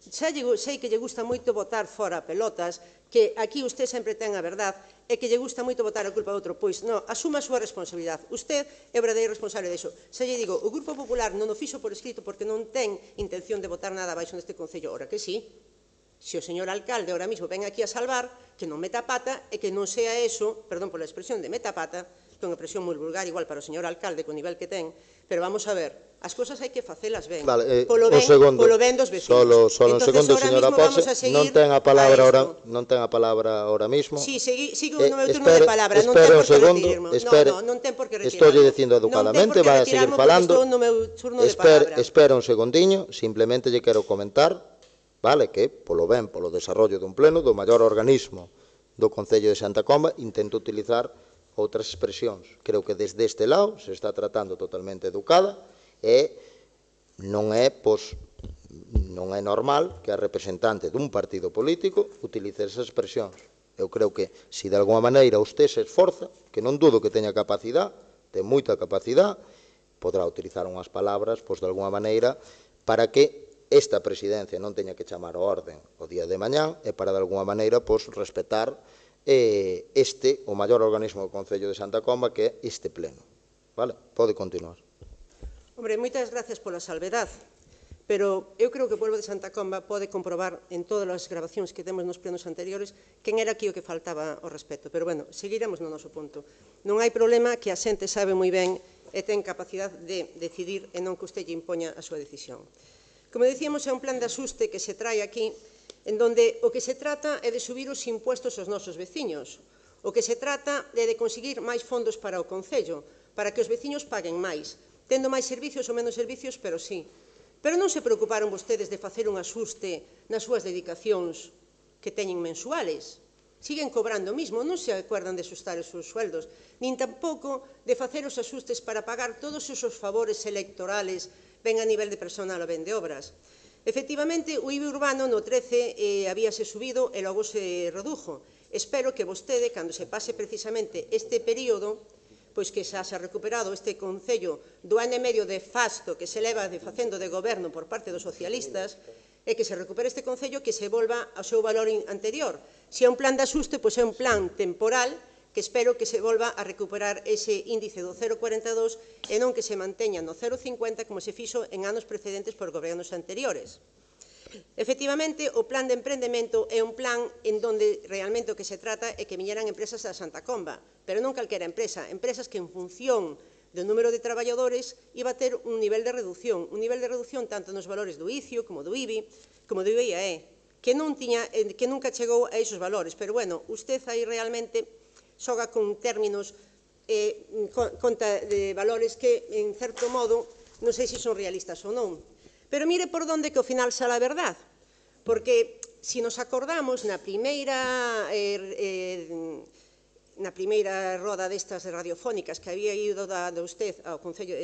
Speaker 2: Xa sei que lle gusta moito votar fora pelotas, que aquí usted sempre ten a verdade, e que lle gusta moito votar a culpa de outro. Pois non, asuma a súa responsabilidade. Usted é o verdadeiro responsable diso. Xa lle digo, o Grupo Popular non o fixo por escrito porque non ten intención de votar nada abaixo neste Concello. Ora que sí. Se o señor alcalde ahora mismo ven aquí a salvar, que non meta pata e que non sea eso, perdón por la expresión de meta pata, que é unha expresión moi vulgar igual para o señor alcalde co nivel que ten, pero vamos a ver, as cousas hai que facelas ben, polo ben dos vecinos.
Speaker 1: Solo un segundo, señora Pose, non ten a palabra ahora mismo.
Speaker 2: Si, sigo no meu turno de palabra, non ten por que retirarme. Non ten por que retirarme.
Speaker 1: Estou dicindo educadamente, vai a seguir falando. Espera un segundiño, simplemente lle quero comentar que, polo ben, polo desarrollo dun pleno, do maior organismo do Concello de Santa Comba, intento utilizar outras expresións. Creo que desde este lado se está tratando totalmente educada e non é normal que a representante dun partido político utilice esas expresións. Eu creo que, se de alguma maneira usted se esforza, que non dudo que teña capacidade, ten moita capacidade, podrá utilizar unhas palabras, de alguma maneira, para que esta presidencia non teña que chamar ao orden o día de mañán e para, de alguma maneira, respetar o maior organismo do Concello de Santa Comba, que é este pleno. Vale? Pode continuar.
Speaker 2: Hombre, moitas gracias pola salvedad, pero eu creo que o Pueblo de Santa Comba pode comprobar en todas as grabacións que temos nos plenos anteriores quen era aquí o que faltaba ao respecto. Pero, bueno, seguiremos no noso punto. Non hai problema, que a xente sabe moi ben e ten capacidade de decidir e non que usted lle impoña a súa decisión. Como dicíamos, é un plan de asuste que se trae aquí en donde o que se trata é de subir os impuestos aos nosos veciños. O que se trata é de conseguir máis fondos para o Concello, para que os veciños paguen máis, tendo máis servicios ou menos servicios, pero sí. Pero non se preocuparon vostedes de facer un asuste nas súas dedicacións que teñen mensuales. Siguen cobrando o mismo, non se acuerdan de asustar os seus sueldos, nin tampouco de facer os asustes para pagar todos os seus favores electorales, ben a nivel de personal ou ben de obras. Efectivamente, o IBI urbano no 13 habíase subido e logo se redujo. Espero que vostede, cando se pase precisamente este período, pois que xa se ha recuperado este Concello do ano e medio de fasto que se leva facendo de goberno por parte dos socialistas, e que se recupere este Concello, que se volva ao seu valor anterior. Se é un plan de asuste, pois é un plan temporal que espero que se volva a recuperar ese índice do 0,42 e non que se manteña no 0,50 como se fixo en anos precedentes por gobernos anteriores. Efectivamente, o plan de emprendemento é un plan en donde realmente o que se trata é que viñeran empresas da Santa Comba, pero non calquera empresa, empresas que en función do número de traballadores iba a ter un nivel de reducción tanto nos valores do ICIO como do IBI, como do IAE, que nunca chegou a esos valores, pero, bueno, usted aí realmente xoga con términos, conta de valores que, en certo modo, non sei se son realistas ou non. Pero mire por onde que ao final sale a verdad, porque se nos acordamos na primeira roda destas radiofónicas que había ido de usted ao Concello,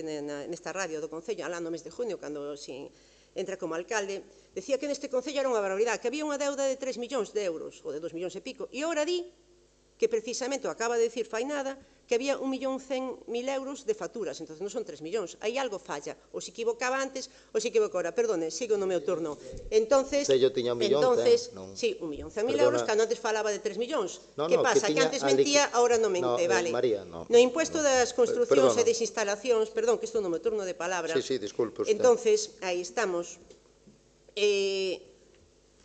Speaker 2: nesta radio do Concello, alá no mes de junio, cando entra como alcalde, decía que neste Concello era unha barbaridade, que había unha deuda de 3 millóns de euros, ou de 2 millóns e pico, e agora di que precisamente o acaba de decir fai nada, que había 1.100.000 euros de facturas, entón non son 3 millóns, aí algo falla, ou se equivocaba antes, ou se equivoca ahora, perdone, sigo no meu turno. Entonces, sí, 1.100.000 euros, cando antes falaba de 3 millóns. Que pasa, que antes mentía, ahora non mente, vale. No impuesto das construcións e das instalacións, perdón, que estou no meu turno de palabra.
Speaker 1: Sí, disculpe usted.
Speaker 2: Entonces, aí estamos.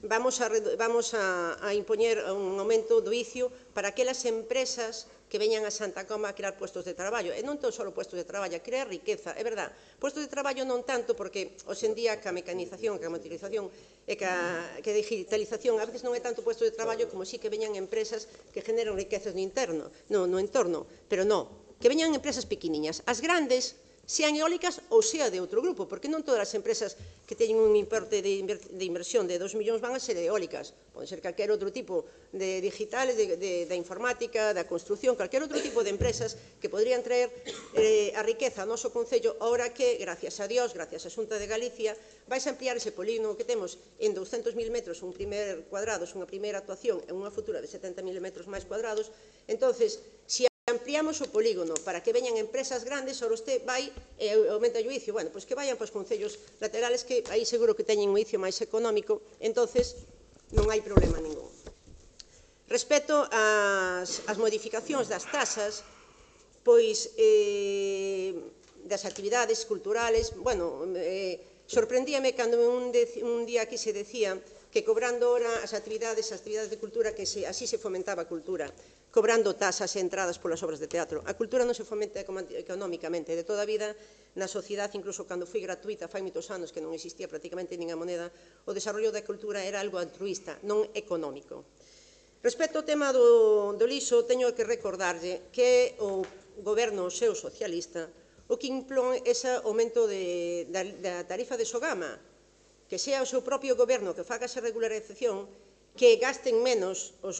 Speaker 2: Vamos a impoñer un aumento do ICIO para aquelas empresas que veñan a Santa Comba a crear puestos de traballo. E non só puestos de traballo, a crear riqueza, é verdad. Puestos de traballo non tanto porque, hoxe en día, que a mecanización, que a motorización e que a digitalización, a veces non é tanto puestos de traballo como si que veñan empresas que generan riquezas no entorno, pero non, que veñan empresas pequeniñas. As grandes, sean eólicas ou sea de outro grupo, porque non todas as empresas que teñen un importe de inversión de 2 millóns van a ser eólicas, pode ser calquer outro tipo de digitales, da informática, da construción, calquer outro tipo de empresas que podrían traer a riqueza ao noso Concello, ahora que, gracias a Dios, gracias á Xunta de Galicia, vais a ampliar ese polígono que temos en 200.000 metros, un primer cuadrado, unha primeira actuación en unha futura de 70.000 metros máis cuadrados. Entonces, se ampliamos o polígono para que veñan empresas grandes, ora usted vai e aumenta o juicio. Bueno, pois que vayan para os concellos laterales, que aí seguro que teñen un juicio máis económico, entonces non hai problema ningún. Respecto ás modificacións das tasas, pois das actividades culturales, bueno, sorprendíame cando un día aquí se decía que cobrando ahora as actividades de cultura, que así se fomentaba a cultura, cobrando tasas e entradas polas obras de teatro. A cultura non se fomenta económicamente, de toda a vida na sociedade, incluso cando foi gratuita, fai moitos anos que non existía prácticamente nin a moneda, o desarrollo da cultura era algo altruista, non económico. Respecto ao tema do lixo, teño que recordarlle que o goberno seu socialista o que implón ese aumento da tarifa de Sogama, que sea o seu propio goberno que faga esa regularización, que gasten menos os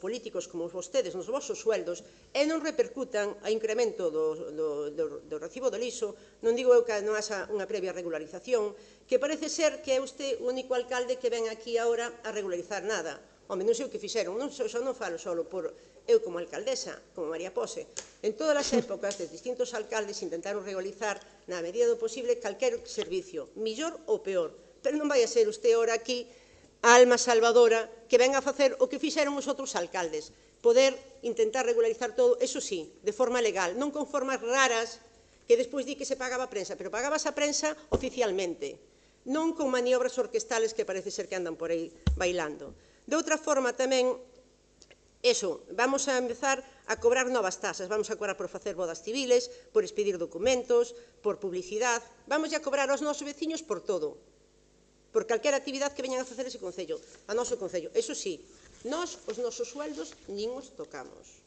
Speaker 2: políticos como vostedes nos vosos sueldos e non repercutan a incremento do recibo do lixo. Non digo eu que non haxa unha previa regularización, que parece ser que é usted o único alcalde que ven aquí agora a regularizar nada. Home, non sei o que fixeron, non falo só por eu como alcaldesa, como María Pose. En todas as épocas, de distintos alcaldes intentaron regularizar na medida do posible calquer servicio, millor ou peor. Pero non vai a ser usted ahora aquí a alma salvadora que ven a facer o que fixeron os outros alcaldes, poder intentar regularizar todo, eso sí, de forma legal, non con formas raras que despois di que se pagaba a prensa, pero pagabas a prensa oficialmente, non con maniobras orquestales que parece ser que andan por aí bailando. De outra forma, tamén, vamos a empezar a cobrar novas tasas, vamos a cobrar por facer bodas civiles, por expedir documentos, por publicidade, vamos a cobrar aos nosos veciños por todo, por calquera actividade que veñan a facer ese concello, a noso concello. Eso sí, nós, os nosos sueldos, nin os tocamos.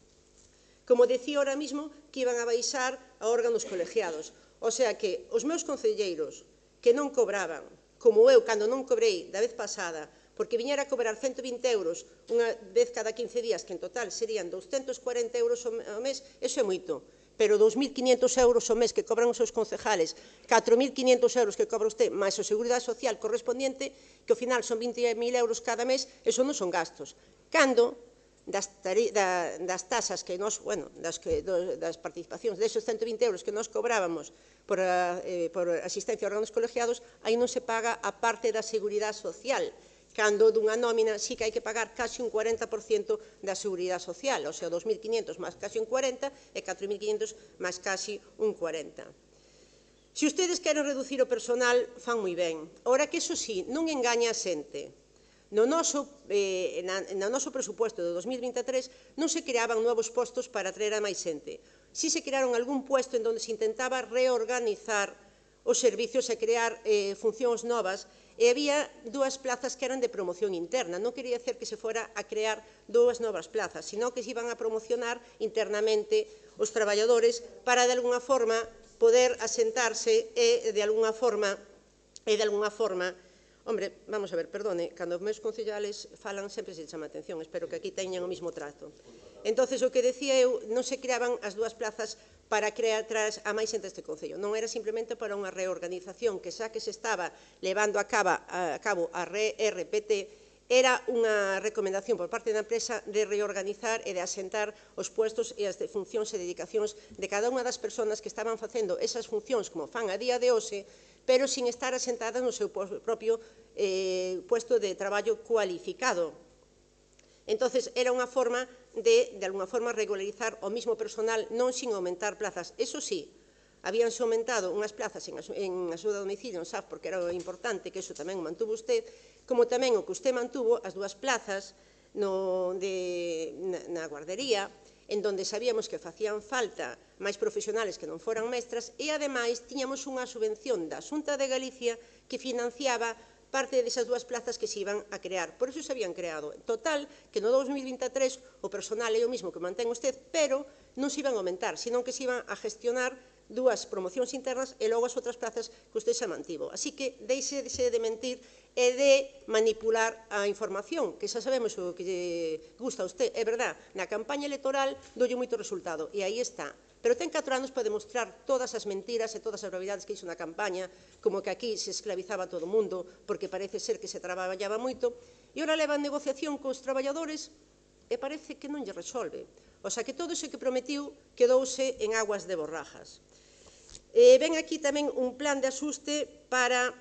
Speaker 2: Como decía ahora mismo, que iban a baixar a órganos colegiados. O sea que os meus concelleiros que non cobraban, como eu, cando non cobrei da vez pasada, porque viñera a cobrar 120 euros unha vez cada 15 días, que en total serían 240 euros ao mes, eso é moito. Pero 2.500 euros ao mes que cobran os seus concejales, 4.500 euros que cobra usted, máis a Seguridade Social correspondiente, que ao final son 20.000 euros cada mes, eso non son gastos. Cando das tasas que nós, das participacións desos 120 euros que nós cobrábamos por asistencia a órganos colegiados, aí non se paga a parte da Seguridade Social, cando dunha nómina sí que hai que pagar casi un 40% da Seguridade Social, o sea, 2.500 máis casi un 40 e 4.500 máis casi un 40. Se ustedes queren reducir o personal, fan moi ben. Ora que iso sí, non engaña a xente. No noso presupuesto de 2023 non se creaban novos postos para atraer a máis xente. Si se crearon algún puesto en donde se intentaba reorganizar os servicios e crear funcións novas, e había 2 plazas que eran de promoción interna. Non quería decir que se fora a crear 2 novas plazas, sino que se iban a promocionar internamente os traballadores para, de alguna forma, poder asentarse e, de alguna forma, hombre, vamos a ver, perdone, cando os meus concellales falan sempre se chama a atención, espero que aquí teñan o mismo trato. Entón, o que decía eu, non se creaban as 2 plazas para crear a máis xente este concello. Non era simplemente para unha reorganización que xa que se estaba levando a cabo a RPT, era unha recomendación por parte da empresa de reorganizar e de asentar os puestos e as funcións e dedicacións de cada unha das persoas que estaban facendo esas funcións como fan a día de hoxe, pero sin estar asentadas no seu propio puesto de traballo cualificado. Entón, era unha forma de alguna forma, regularizar o mismo personal non sin aumentar plazas. Eso sí, habíanse aumentado unhas plazas en axuda a domicilio, en SAF, porque era importante, que eso tamén o mantuvo usted, como tamén o que usted mantuvo as 2 plazas na guardería, en donde sabíamos que facían falta máis profesionales que non foran mestras, e, ademais, tiñamos unha subvención da Xunta de Galicia que financiaba parte desas 2 plazas que se iban a crear. Por iso se habían creado. Total, que no 2023 o personal é o mismo que mantén usted, pero non se iban a aumentar, senón que se iban a gestionar 2 promocións internas e logo as outras plazas que usted xa mantivo. Así que deixe de mentir e de manipular a información, que xa sabemos o que lle gusta a usted. É verdad, na campaña electoral doulle moito resultado, e aí está. Pero ten 4 anos para demostrar todas as mentiras e todas as barbaridades que hizo na campaña, como que aquí se esclavizaba a todo o mundo, porque parece ser que se traballaba moito, e ora leva a negociación cos traballadores e parece que non lle resolve. O sea, que todo iso que prometiu quedouse en aguas de borrajas. Ven aquí tamén un plan de axuste para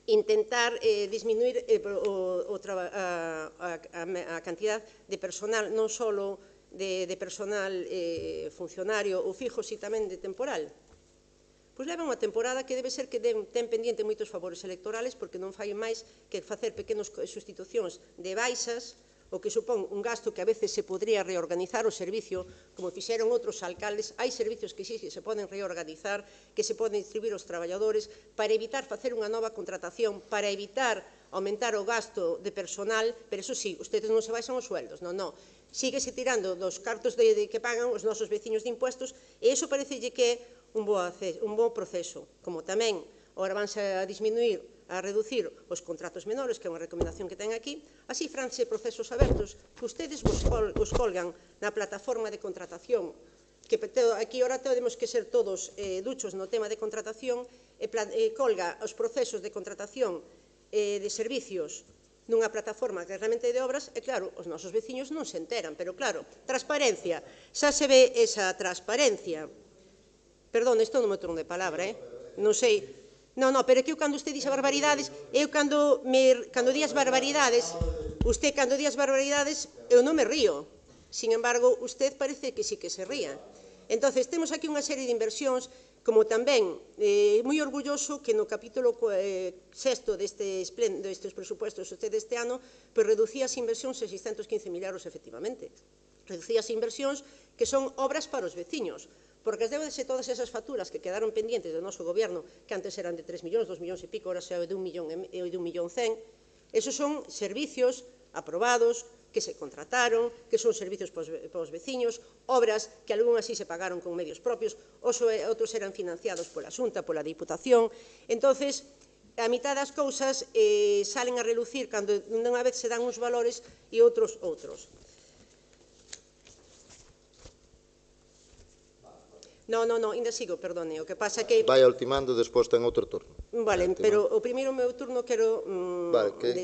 Speaker 2: intentar disminuir a cantidad de personal, non só de personal funcionario ou fijo, si tamén de temporal. Pois leva unha temporada que debe ser que ten pendiente moitos favores electorales, porque non fai máis que facer pequenos sustitucións de baixas, o que supón un gasto que a veces se podría reorganizar o servicio, como fixeron outros alcaldes. Hai servicios que sí se poden reorganizar, que se poden distribuir aos traballadores, para evitar facer unha nova contratación, para evitar aumentar o gasto de personal, pero eso sí, ustedes non se baixan os sueldos, non. Síguese tirando dos cartos que pagan os nosos veciños de impuestos, e iso parecelle que é un bo proceso, como tamén ora vanse a disminuir, a reducir os contratos menores, que é unha recomendación que ten aquí, así franse procesos abertos, que ustedes os colgan na plataforma de contratación, que aquí ora temos que ser todos duchos no tema de contratación, e colga os procesos de contratación de servicios nunha plataforma que realmente é de obras, e claro, os nosos veciños non se enteran, pero claro, transparencia, xa se ve esa transparencia. Perdón, isto non me trono de palabra, non sei. Non, pero é que eu cando usted dixe barbaridades, eu cando di as barbaridades, usted cando di as barbaridades, eu non me río. Sin embargo, usted parece que sí que se ría. Entón, temos aquí unha serie de inversións Como tamén moi orgulloso que no capítulo sexto destes presupuestos deste ano reducía as inversións en 615.000 euros efectivamente. Reducía as inversións que son obras para os veciños, porque as deudas e todas esas facturas que quedaron pendientes do noso goberno, que antes eran de 3 millóns, 2 millóns e pico, ahora xa é de 1,1 millón, esos son servicios aprobados, que se contrataron, que son servicios para os veciños, obras que algunhas sí se pagaron con medios propios, outros eran financiados pola Xunta, pola Diputación. Entonces, a mitad das cousas salen a relucir cando unha vez se dan uns valores e outros. Non, ainda sigo, perdone, o que pasa que...
Speaker 1: Vai ultimando, despois ten outro turno.
Speaker 2: Vale, pero o primeiro meu turno quero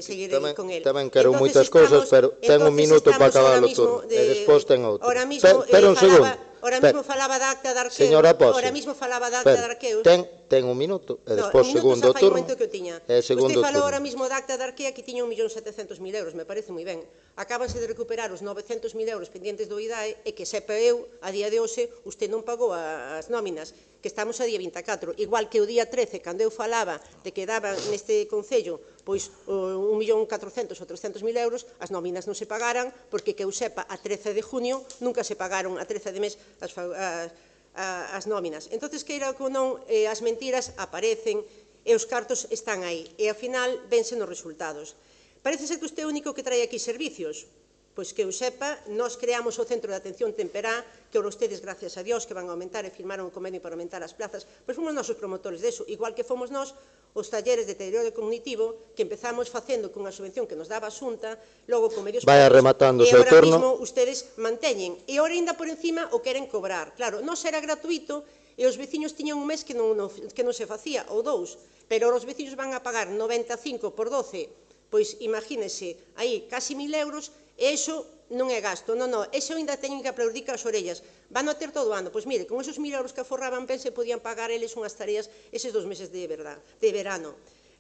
Speaker 2: seguir con el.
Speaker 1: Tamén quero moitas cousas, pero ten un minuto para acabar o turno, e despois ten outro. Pero un segundo.
Speaker 2: Ahora mismo falaba da acta de arqueo.
Speaker 1: Señora Pose.
Speaker 2: Ahora mismo falaba da acta de arqueo.
Speaker 1: Ten un minuto, e despois segundo turno.
Speaker 2: Usted falou ahora mismo da acta de arqueo que tiña 1.700.000 euros, me parece moi ben. Acábanse de recuperar os 900.000 euros pendientes do IDAE e que sepa eu, a día de hoxe, usted non pagou as nóminas, que estamos a día 24, igual que o día 13, cando eu falaba de que daba neste Concello pois 1.400.000 ou 300.000 euros, as nóminas non se pagaran, porque que eu sepa, a 13 de junio nunca se pagaron a 13 de mes as nóminas. Entonces, queira que non, as mentiras aparecen e os cartos están aí, e ao final vense nos resultados. Parece ser que usted é o único que trae aquí servicios. Pois que eu sepa, nós creamos o Centro de Atención Temperá, que ahora ustedes, gracias a Dios, que van a aumentar e firmaron un convenio para aumentar as plazas, pois fomos nosos promotores deso, igual que fomos nós os talleres de deterioro cognitivo que empezamos facendo cunha subvención que nos daba a Xunta, logo con medios
Speaker 1: propios, e
Speaker 2: agora mismo ustedes manteñen, e agora ainda por encima o queren cobrar. Claro, non era gratuito e os veciños tiñan un mes que non se facía, ou dous, pero os veciños van a pagar 95 por 12, pois imagínese, aí casi 1.000 euros, e iso non é gasto, non, iso ainda teñen que aplaudir as orellas. Van a ter todo o ano, pois mire, con esos 1.000 euros que aforraban, pense, podían pagar eles unhas tareas eses 2 meses de verano.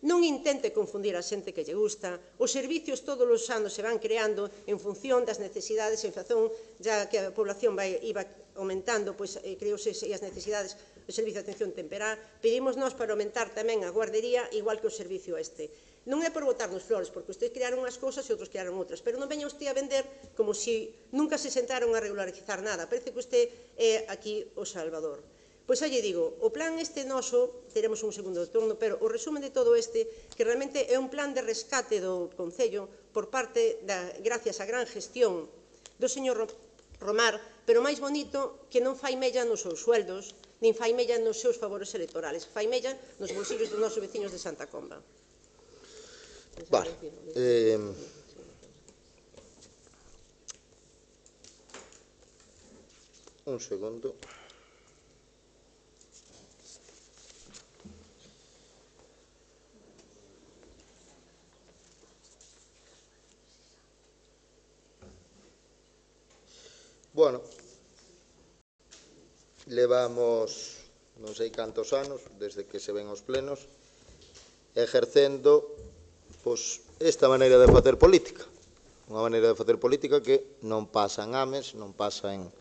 Speaker 2: Non intente confundir a xente que lle gusta, os servicios todos os anos se van creando en función das necesidades, en función, ya que a población iba aumentando, pois creouse as necesidades do Servicio de Atención Temperá, pedimos nós para aumentar tamén a guardería, igual que o servicio este. Non é por botarnos flores, porque ustedes crearon unhas cousas e outros crearon outras, pero non veña usted a vender como se nunca se sentaron a regularizar nada. Parece que usted é aquí o salvador. Pois xa lle digo, o plan este noso, teremos un segundo turno, pero o resumen de todo este, que realmente é un plan de rescate do Concello por parte, gracias á gran gestión do señor Romar, pero máis bonito que non fai mella nos seus sueldos, nin fai mella nos seus favores electorales, fai mella nos bolsillos dos nosos veciños de Santa Comba.
Speaker 1: Vale. Un segundo. Bueno, levamos non sei cantos anos, desde que se ven os plenos, ejercendo esta maneira de facer política. Unha maneira de facer política que non pasa en Ames, non pasa en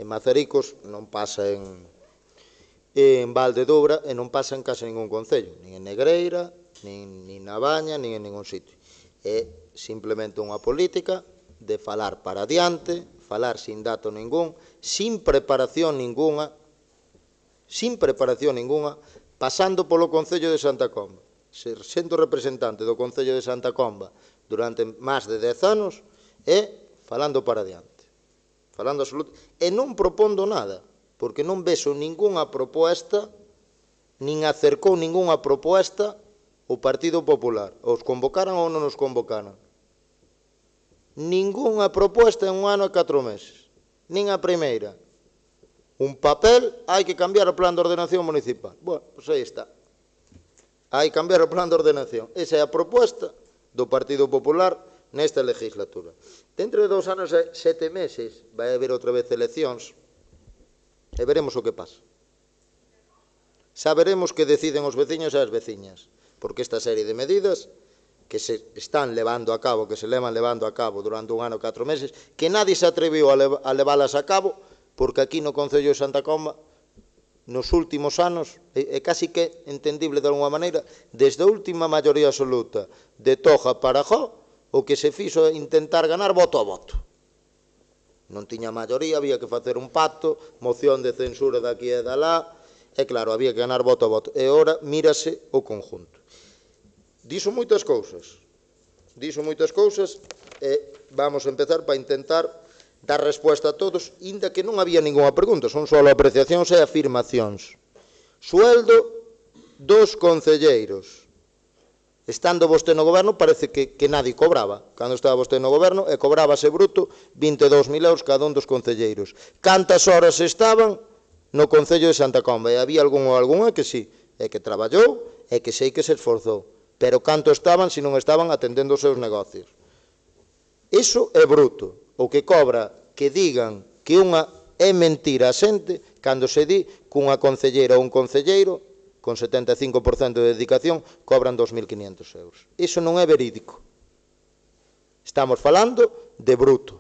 Speaker 1: Mazaricos, non pasa en Valde Dubra e non pasa en case ningún concello, nin en Negreira, nin na Baña, nin en ningún sitio. É simplemente unha política de falar para adiante, falar sin dato ningún, sin preparación ninguna, pasando polo Concello de Santa Comba. Sendo representante do Concello de Santa Comba durante máis de 10 anos e falando para adiante, falando absoluto, e non propondo nada, porque non vexo ningunha proposta, nin acercou ningunha proposta o Partido Popular. Os convocaran ou non os convocaran. Ningunha proposta en un ano e 4 meses, nin a primeira. Un papel, hai que cambiar o plan de ordenación municipal. Bueno, pois aí está. Hai que cambiar o plan de ordenación. Esa é a proposta do Partido Popular nesta legislatura. Dentro de 2 anos e 7 meses vai haber outra vez eleccións e veremos o que pasa. Saberemos que deciden os veciños e as veciñas, porque esta serie de medidas que se están levando a cabo, que se levan levando a cabo durante 1 ano e 4 meses, que nadie se atreviu a leválas a cabo, porque aquí no Concello de Santa Comba nos últimos anos, é casi que entendible de alguma maneira, desde a última maioría absoluta de Toja para Jó, o que se fixo é intentar ganar voto a voto. Non tiña maioría, había que facer un pacto, moción de censura daqui e da lá, e claro, había que ganar voto a voto. E ora mírase o conjunto. Dixo moitas cousas, e vamos a empezar para intentar dar resposta a todos, inda que non había ninguna pregunta, son só apreciacións e afirmacións. Sueldo dos concelleiros. Estando vostede no goberno, parece que nadie cobraba. Cando estaba vostede no goberno, e cobrábase bruto 22.000 euros cada un dos concelleiros. Cantas horas estaban no Concello de Santa Comba? E había algunha que sí, e que traballou, e que sei que se esforzou. Pero canto estaban se non estaban atendendo os seus negocios? Iso é bruto. O que cobra, que digan que unha é mentira a xente, cando se di que unha concelleira ou un concelleiro con 75% de dedicación cobran 2.500 euros. Iso non é verídico. Estamos falando de bruto.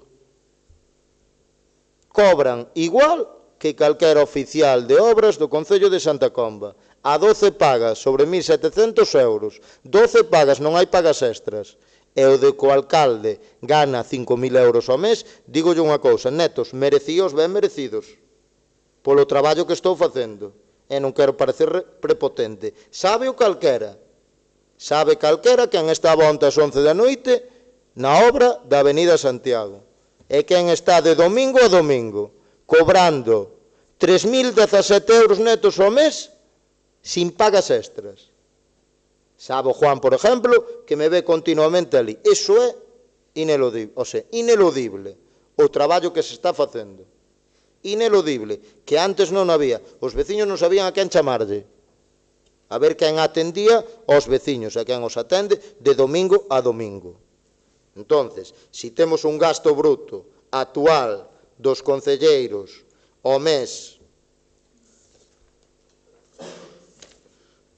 Speaker 1: Cobran igual que calquera oficial de obras do Concello de Santa Comba. A 12 pagas sobre 1.700 euros. 12 pagas, non hai pagas extras. E o de co alcalde gana 5.000 euros ao mes, digolle unha cousa, netos, merecíos ben merecidos, polo traballo que estou facendo, e non quero parecer prepotente. Sabe o calquera quen estaba onte ás 11 da noite na obra da Avenida Santiago, e quen está de domingo a domingo, cobrando 3.017 euros netos ao mes, sin pagas extras. Sabe o Juan, por exemplo, que me ve continuamente ali. Iso é ineludible. O traballo que se está facendo. Ineludible. Que antes non había. Os veciños non sabían a quen chamarlle. A ver quen atendía aos veciños, a quen os atende de domingo a domingo. Entonces, se temos un gasto bruto actual dos concelleiros ao mes...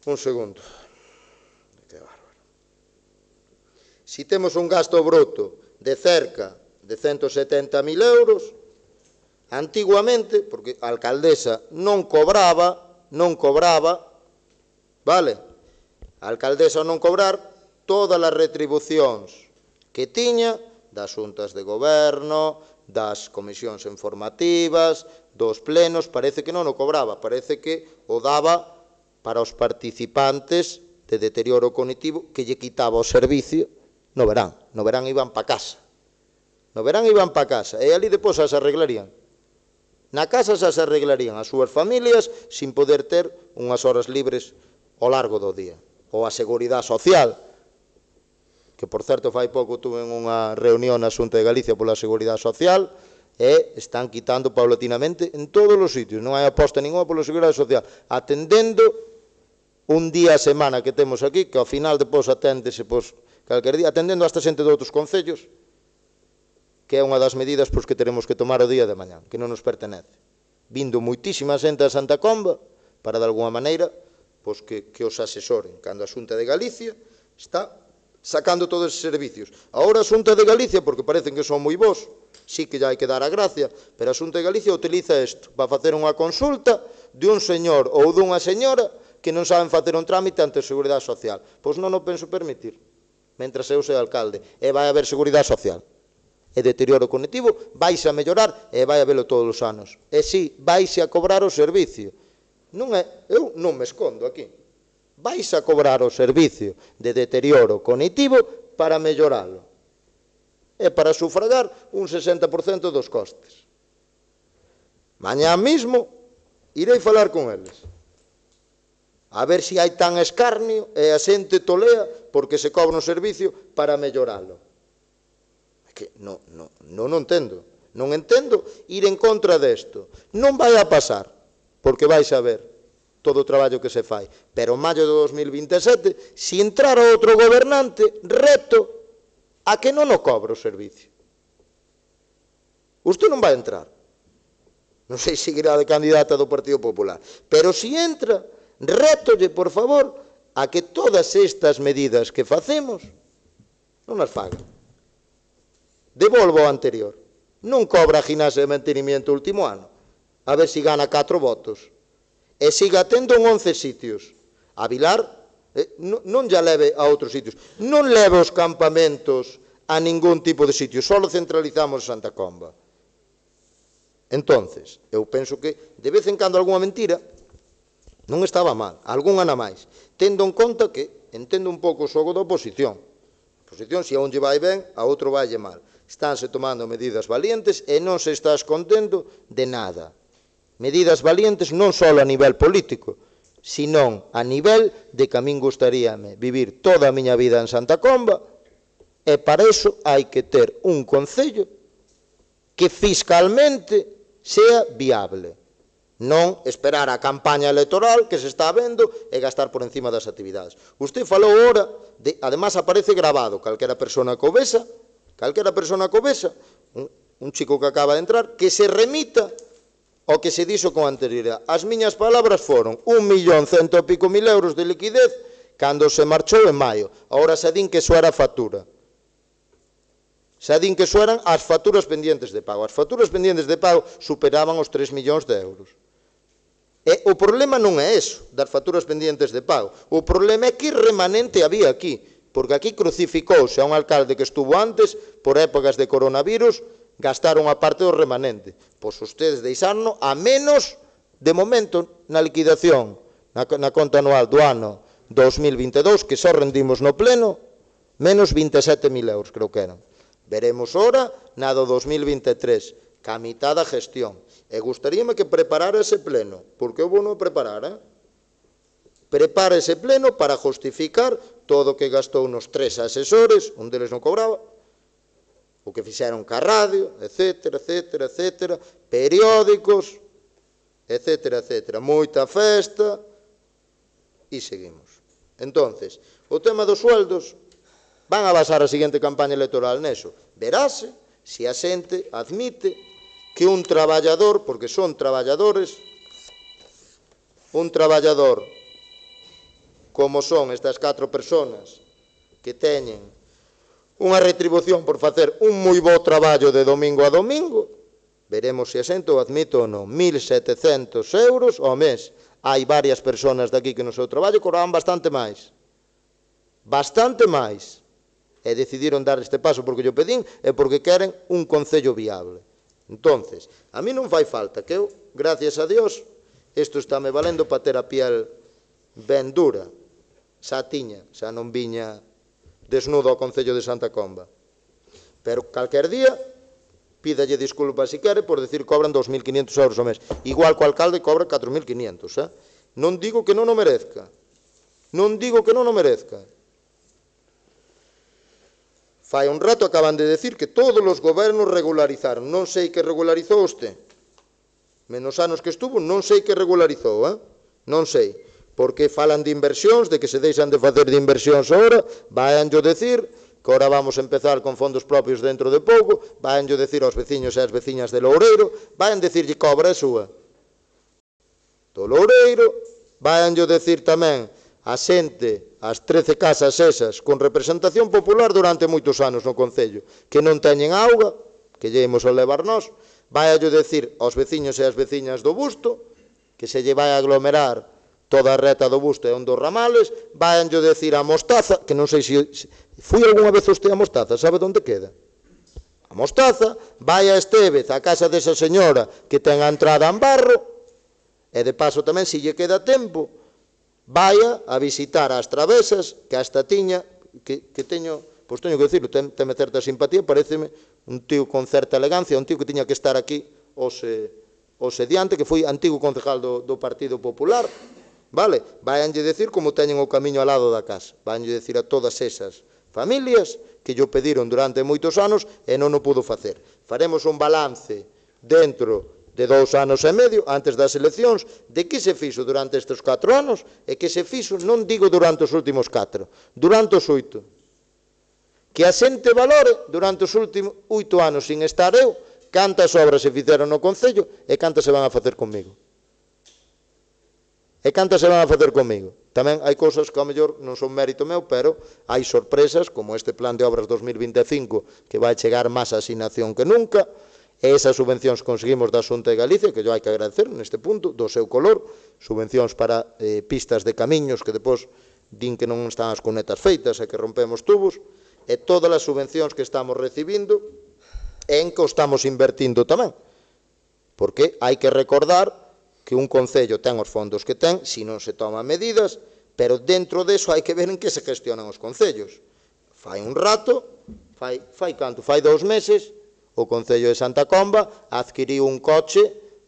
Speaker 1: Un segundo. Se temos un gasto bruto de cerca de 170.000 euros, antiguamente, porque a alcaldesa non cobraba, vale? A alcaldesa non cobrar todas as retribucións que tiña das xuntas de goberno, das comisións informativas, dos plenos, parece que non o cobraba, parece que o daba para os participantes de deterioro cognitivo que lle quitaba o servicio. No verán iban pa casa. E ali depois as arreglarían. Na casa xa se arreglarían as súas familias sin poder ter unhas horas libres ao largo do día. Ou a Seguridade Social, que por certo fai pouco tuve unha reunión na Xunta de Galicia pola Seguridade Social, e están quitando paulatinamente en todos os sitios. Non hai aposta ninguna pola Seguridade Social, atendendo un día a semana que temos aquí, que ao final depois aténdese calquer día, atendendo a esta xente de outros concellos, que é unha das medidas que teremos que tomar o día de mañá, que non nos pertenece. Vindo moitísima xente a Santa Comba, para de alguna maneira, que os asesoren, cando a Xunta de Galicia está sacando todos esos servicios. Agora a Xunta de Galicia, porque parecen que son moi bons, sí que já hai que dar a gracia, pero a Xunta de Galicia utiliza isto para facer unha consulta de un señor ou dunha señora que non saben facer un trámite ante a Seguridade Social. Pois non o penso permitir. Mentras eu sei alcalde, e vai haber Seguridade Social. E deterioro cognitivo vaise a mellorar e vai a velo todos os anos. E si, vaise a cobrar o servicio. Eu non me escondo aquí. Vaise a cobrar o servicio de deterioro cognitivo para melloralo. E para sufragar un 60% dos costes. Mañá mismo irei falar con eles. A ver se hai tan escarnio e a xente tolea porque se cobra un servicio para melloralo. É que non entendo. Non entendo ir en contra desto. Non vai a pasar, porque vais a ver todo o traballo que se fai. Pero en maio de 2027, se entrar outro gobernante, reto a que non o cobra o servicio. Usted non vai entrar. Non sei se seguirá de candidata do Partido Popular. Pero se entra, rétolle, por favor, a que todas estas medidas que facemos non as faga. Devolvo o anterior. Non cobra a gimnasia de mantenimiento o último ano. A ver se gana 4 votos. e siga tendo en 11 sitios. A Vilar non ya leve a outros sitios, non leve os campamentos a ningún tipo de sitio, só centralizamos Santa Comba. Entonces, eu penso que de vez en cando algunha mentira non estaba mal, algunha na máis, tendo en conta que entendo un pouco o xogo da oposición. A oposición, se a un lle vai ben, a outro vai mal. Estánse tomando medidas valientes e non se está escondendo de nada. Medidas valientes non só a nivel político, sino a nivel de que a min gustaríame vivir toda a miña vida en Santa Comba, e para iso hai que ter un concello que fiscalmente sea viable. Non esperar a campaña electoral que se está vendo e gastar por encima das actividades. Usted falou ora, además aparece grabado, calquera persona cobesa, un chico que acaba de entrar, que se remita ao que se dixo con anterioridade. As miñas palabras foron 1.100.000 e pico euros de liquidez cando se marchou en maio. Agora se din que eso era factura. Se din que eso eran as facturas pendientes de pago. As facturas pendientes de pago superaban os 3 millóns de euros. E o problema non é eso, das facturas pendientes de pago. O problema é que remanente había aquí, porque aquí crucificouse a un alcalde que estuvo antes, por épocas de coronavirus, gastaron a parte do remanente. Pois ustedes deixaron a menos, de momento, na liquidación, na conta anual do ano 2022, que só rendimos no pleno, menos 27.000 euros, creo que eran. Veremos ora na do 2023, ca mitad da gestión. E gustaríame que preparara ese pleno, porque eu vou non preparar, prepara ese pleno para justificar todo o que gastou nos 3 asesores, un deles non cobraba, o que fixeron ca radio, etcétera, periódicos, etcétera, moita festa, e seguimos. Entonces, o tema dos sueldos, van a basar a seguinte campaña electoral neso. Verase se a xente admite que un traballador, porque son traballadores, un traballador como son estas 4 personas que teñen unha retribución por facer un moi bo traballo de domingo a domingo, veremos se a xente o admite ou non. 1.700 euros ao mes. Hai varias persoas daqui que no seu traballo cobraban bastante máis. E decidiron dar este paso porque yo pedín e porque queren un concello viable. Entonces, a mí non fai falta que eu, gracias a Dios, isto está me valendo para ter a piel ben dura, xa tiña, xa non viña desnudo ao concello de Santa Comba. Pero calquer día, pídalle disculpas se quere por decir que cobran 2.500 euros ao mes. Igual que o alcalde cobra 4.500, Non digo que non o merezca. Fai un rato acaban de decir que todos os gobernos regularizaron. Non sei que regularizou usted. Menos anos que estuvo, non sei que regularizou, Non sei. Porque falan de inversións, de que se deixan de facer de inversións ahora, vayanllo decir, que ahora vamos a empezar con fondos propios dentro de pouco, vayanllo decir aos veciños e as veciñas de Loureiro, vayan decirlle que a obra é súa. Do Loureiro, vayanllo decir tamén a xente, as 13 casas esas, con representación popular durante moitos anos no concello, que non teñen auga, que lle imos a levar nós, vayanllo decir aos veciños e as veciñas do Busto, que se lle vai a aglomerar toda a reta do Busto e onde os ramales, vayanllo decir a Mostaza, que non sei se fui algunha vez usted a Mostaza, sabe onde queda? A Mostaza, vai a Estevez, a casa desa señora que ten a entrada en barro, e de paso tamén, se lle queda tempo, vaya a visitar as travesas que hasta tiña, que teño, pois teño que decirlo, teme certa simpatía, pareceme un tío con certa elegancia, un tío que tiña que estar aquí o sediante, que foi antigo concejal do Partido Popular, vale? Vayanlle decir como teñen o camiño ao lado da casa, vayanlle decir a todas esas familias que llo pediron durante moitos anos e non o pudo facer. Faremos un balance dentro de 2 anos e medio, antes das eleccións, de que se fixo durante estes 4 anos e que se fixo, non digo durante os últimos 4, durante os 8. Que a xente valore durante os últimos 8 anos sin estar eu, cantas obras se fixeron no concello e cantas se van a facer comigo. Tamén hai cousas que ao mellor non son mérito meu, pero hai sorpresas, como este plan de obras 2025, que vai chegar máis asignación que nunca, e esas subvencións conseguimos da Xunta de Galicia, que yo hai que agradecer neste punto, do seu color, subvencións para pistas de camiños que depois din que non están as cunetas feitas e que rompemos tubos, e todas as subvencións que estamos recibindo en que o estamos invertindo tamén. Porque hai que recordar que un concello ten os fondos que ten, se non se toman medidas, pero dentro deso hai que ver en que se gestionan os concellos. Fai un rato, fai 2 meses, o Concello de Santa Comba adquiriu un coche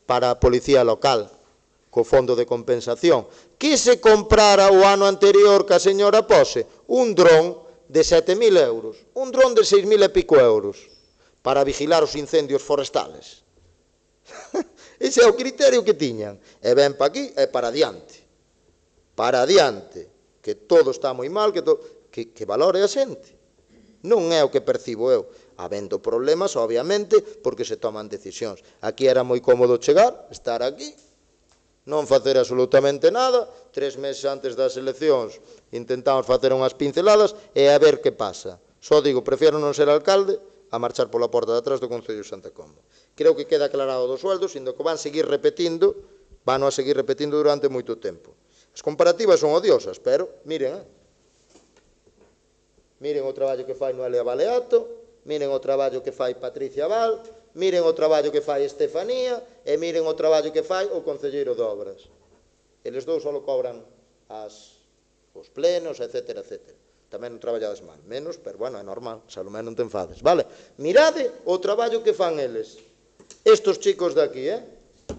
Speaker 1: para a policía local, co fondo de compensación. Que se comprara o ano anterior ca señora Pose? Un dron de 7.000 euros, un dron de 6.000 e pico euros, para vigilar os incendios forestales. Ese é o criterio que tiñan. E ven pa aquí e para adiante. Para adiante. Que todo está moi mal, que valore a xente. Non é o que percibo eu. Habendo problemas, obviamente, porque se toman decisións. Aquí era moi cómodo chegar, estar aquí, non facer absolutamente nada. 3 meses antes das eleccións intentamos facer unhas pinceladas e a ver que pasa. Só digo, prefiero non ser alcalde a marchar pola porta de atrás do Concello de Santa Comba. Creo que queda aclarado dos sueldos, sendo que van a seguir repetindo durante moito tempo. As comparativas son odiosas, pero miren, miren o traballo que fai Noelia Baleato, miren o traballo que fai Patricia Val, miren o traballo que fai Estefanía e miren o traballo que fai o concelleiro de Obras. Eles dous só cobran os plenos, etc. Tamén non traballades mal, menos, pero bueno, é normal, Salomé non te enfades, vale? Mirade o traballo que fan eles, estos chicos de aquí,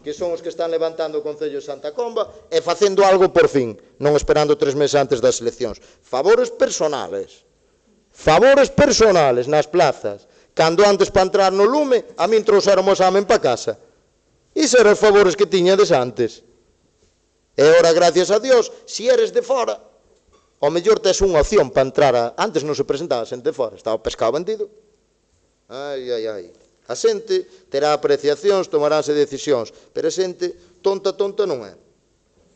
Speaker 1: que son os que están levantando o Concello de Santa Comba e facendo algo por fin, non esperando 3 meses antes das eleccións. Favores personales nas plazas, cando antes para entrar no lume, a min trouxeron o examen para casa. Iso eran os favores que tiñades antes. E ora, gracias a Dios, se eres de fora, ao mellor tes unha opción para entrar Antes non se presentaba xente de fora, estaba o pescado vendido. Ai. A xente terá apreciacións, tomaránse decisións, pero a xente tonta non é.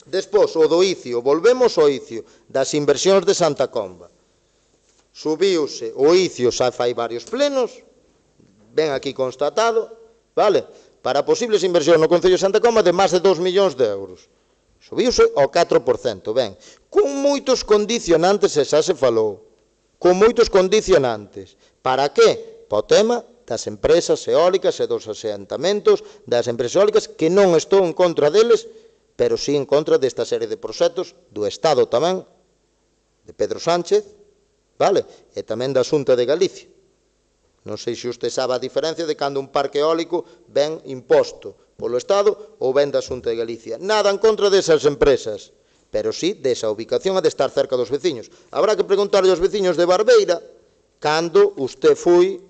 Speaker 1: Despois, o do ICIO, volvemos ao ICIO, das inversións de Santa Comba. Subiuse o ICIO, xa fai varios plenos, ben aquí constatado, vale? Para posibles inversións no Concello de Santa Comba de máis de 2 millóns de euros. Subiuse ao 4%, ben, con moitos condicionantes, e xa se falou, con moitos condicionantes. Para que? Para o tema das empresas eólicas e dos asentamentos das empresas eólicas, que non estou en contra deles, pero sí en contra desta serie de proxectos do Estado tamén, de Pedro Sánchez, vale? E tamén da Xunta de Galicia. Non sei se usted sabe a diferencia de cando un parque eólico ven imposto polo Estado ou ven da Xunta de Galicia. Nada en contra desas empresas, pero sí desa ubicación a de estar cerca dos veciños. Habrá que preguntarle aos veciños de Barbeira cando usted foi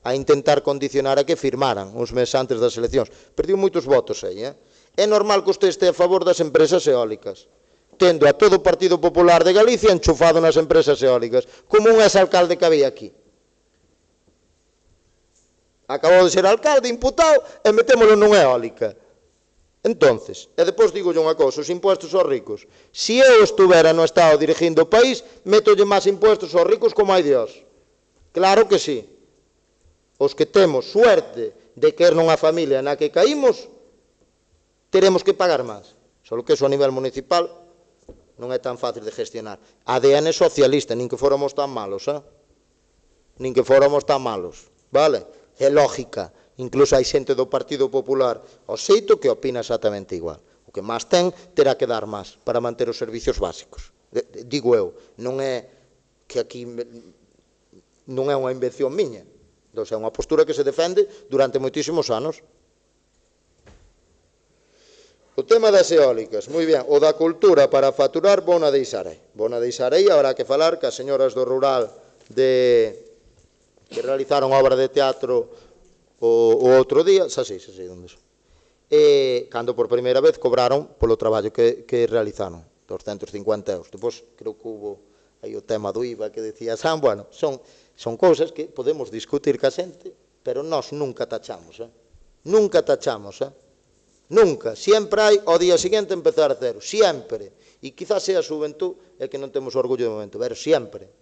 Speaker 1: a intentar condicionar a que firmaran uns meses antes das eleccións. Perdiu moitos votos aí, É normal que usted este a favor das empresas eólicas, tendo a todo o Partido Popular de Galicia enchufado nas empresas eólicas, como un exalcalde que había aquí. Acabou de ser alcalde, imputado, e metémolo nunha eólica. Entonces, e depois digo unha cousa, os impuestos aos ricos. Se eu estuvera no Estado dirigindo o país, metolle máis impuestos aos ricos como hai Dios. Claro que sí. Os que temos suerte de caer nunha familia na que caímos, teremos que pagar máis. Só que eso a nivel municipal non é tan fácil de gestionar. ADN socialista, nin que fóramos tan malos, nin que fóramos tan malos, vale? É lógica, incluso hai xente do Partido Popular ao xeito que opina exactamente igual. O que máis ten terá que dar máis para manter os servicios básicos. Digo eu, non é que aquí non é unha invención miña, é unha postura que se defende durante moitísimos anos. O tema das eólicas, moi ben, o da cultura para facturar, vou na deixar aí, habrá que falar que as señoras do rural que realizaron obra de teatro o outro día, xa sei onde son, cando por primeira vez cobraron polo traballo que realizaron, 250 euros. Depois creo que hubo aí o tema do IVA que decía Sam, bueno, son cousas que podemos discutir ca xente, pero nós nunca tachamos, nunca, sempre hai ao día seguinte empezar a cero, sempre, e quizás sea a xuventud é que non temos orgullo de momento, pero sempre,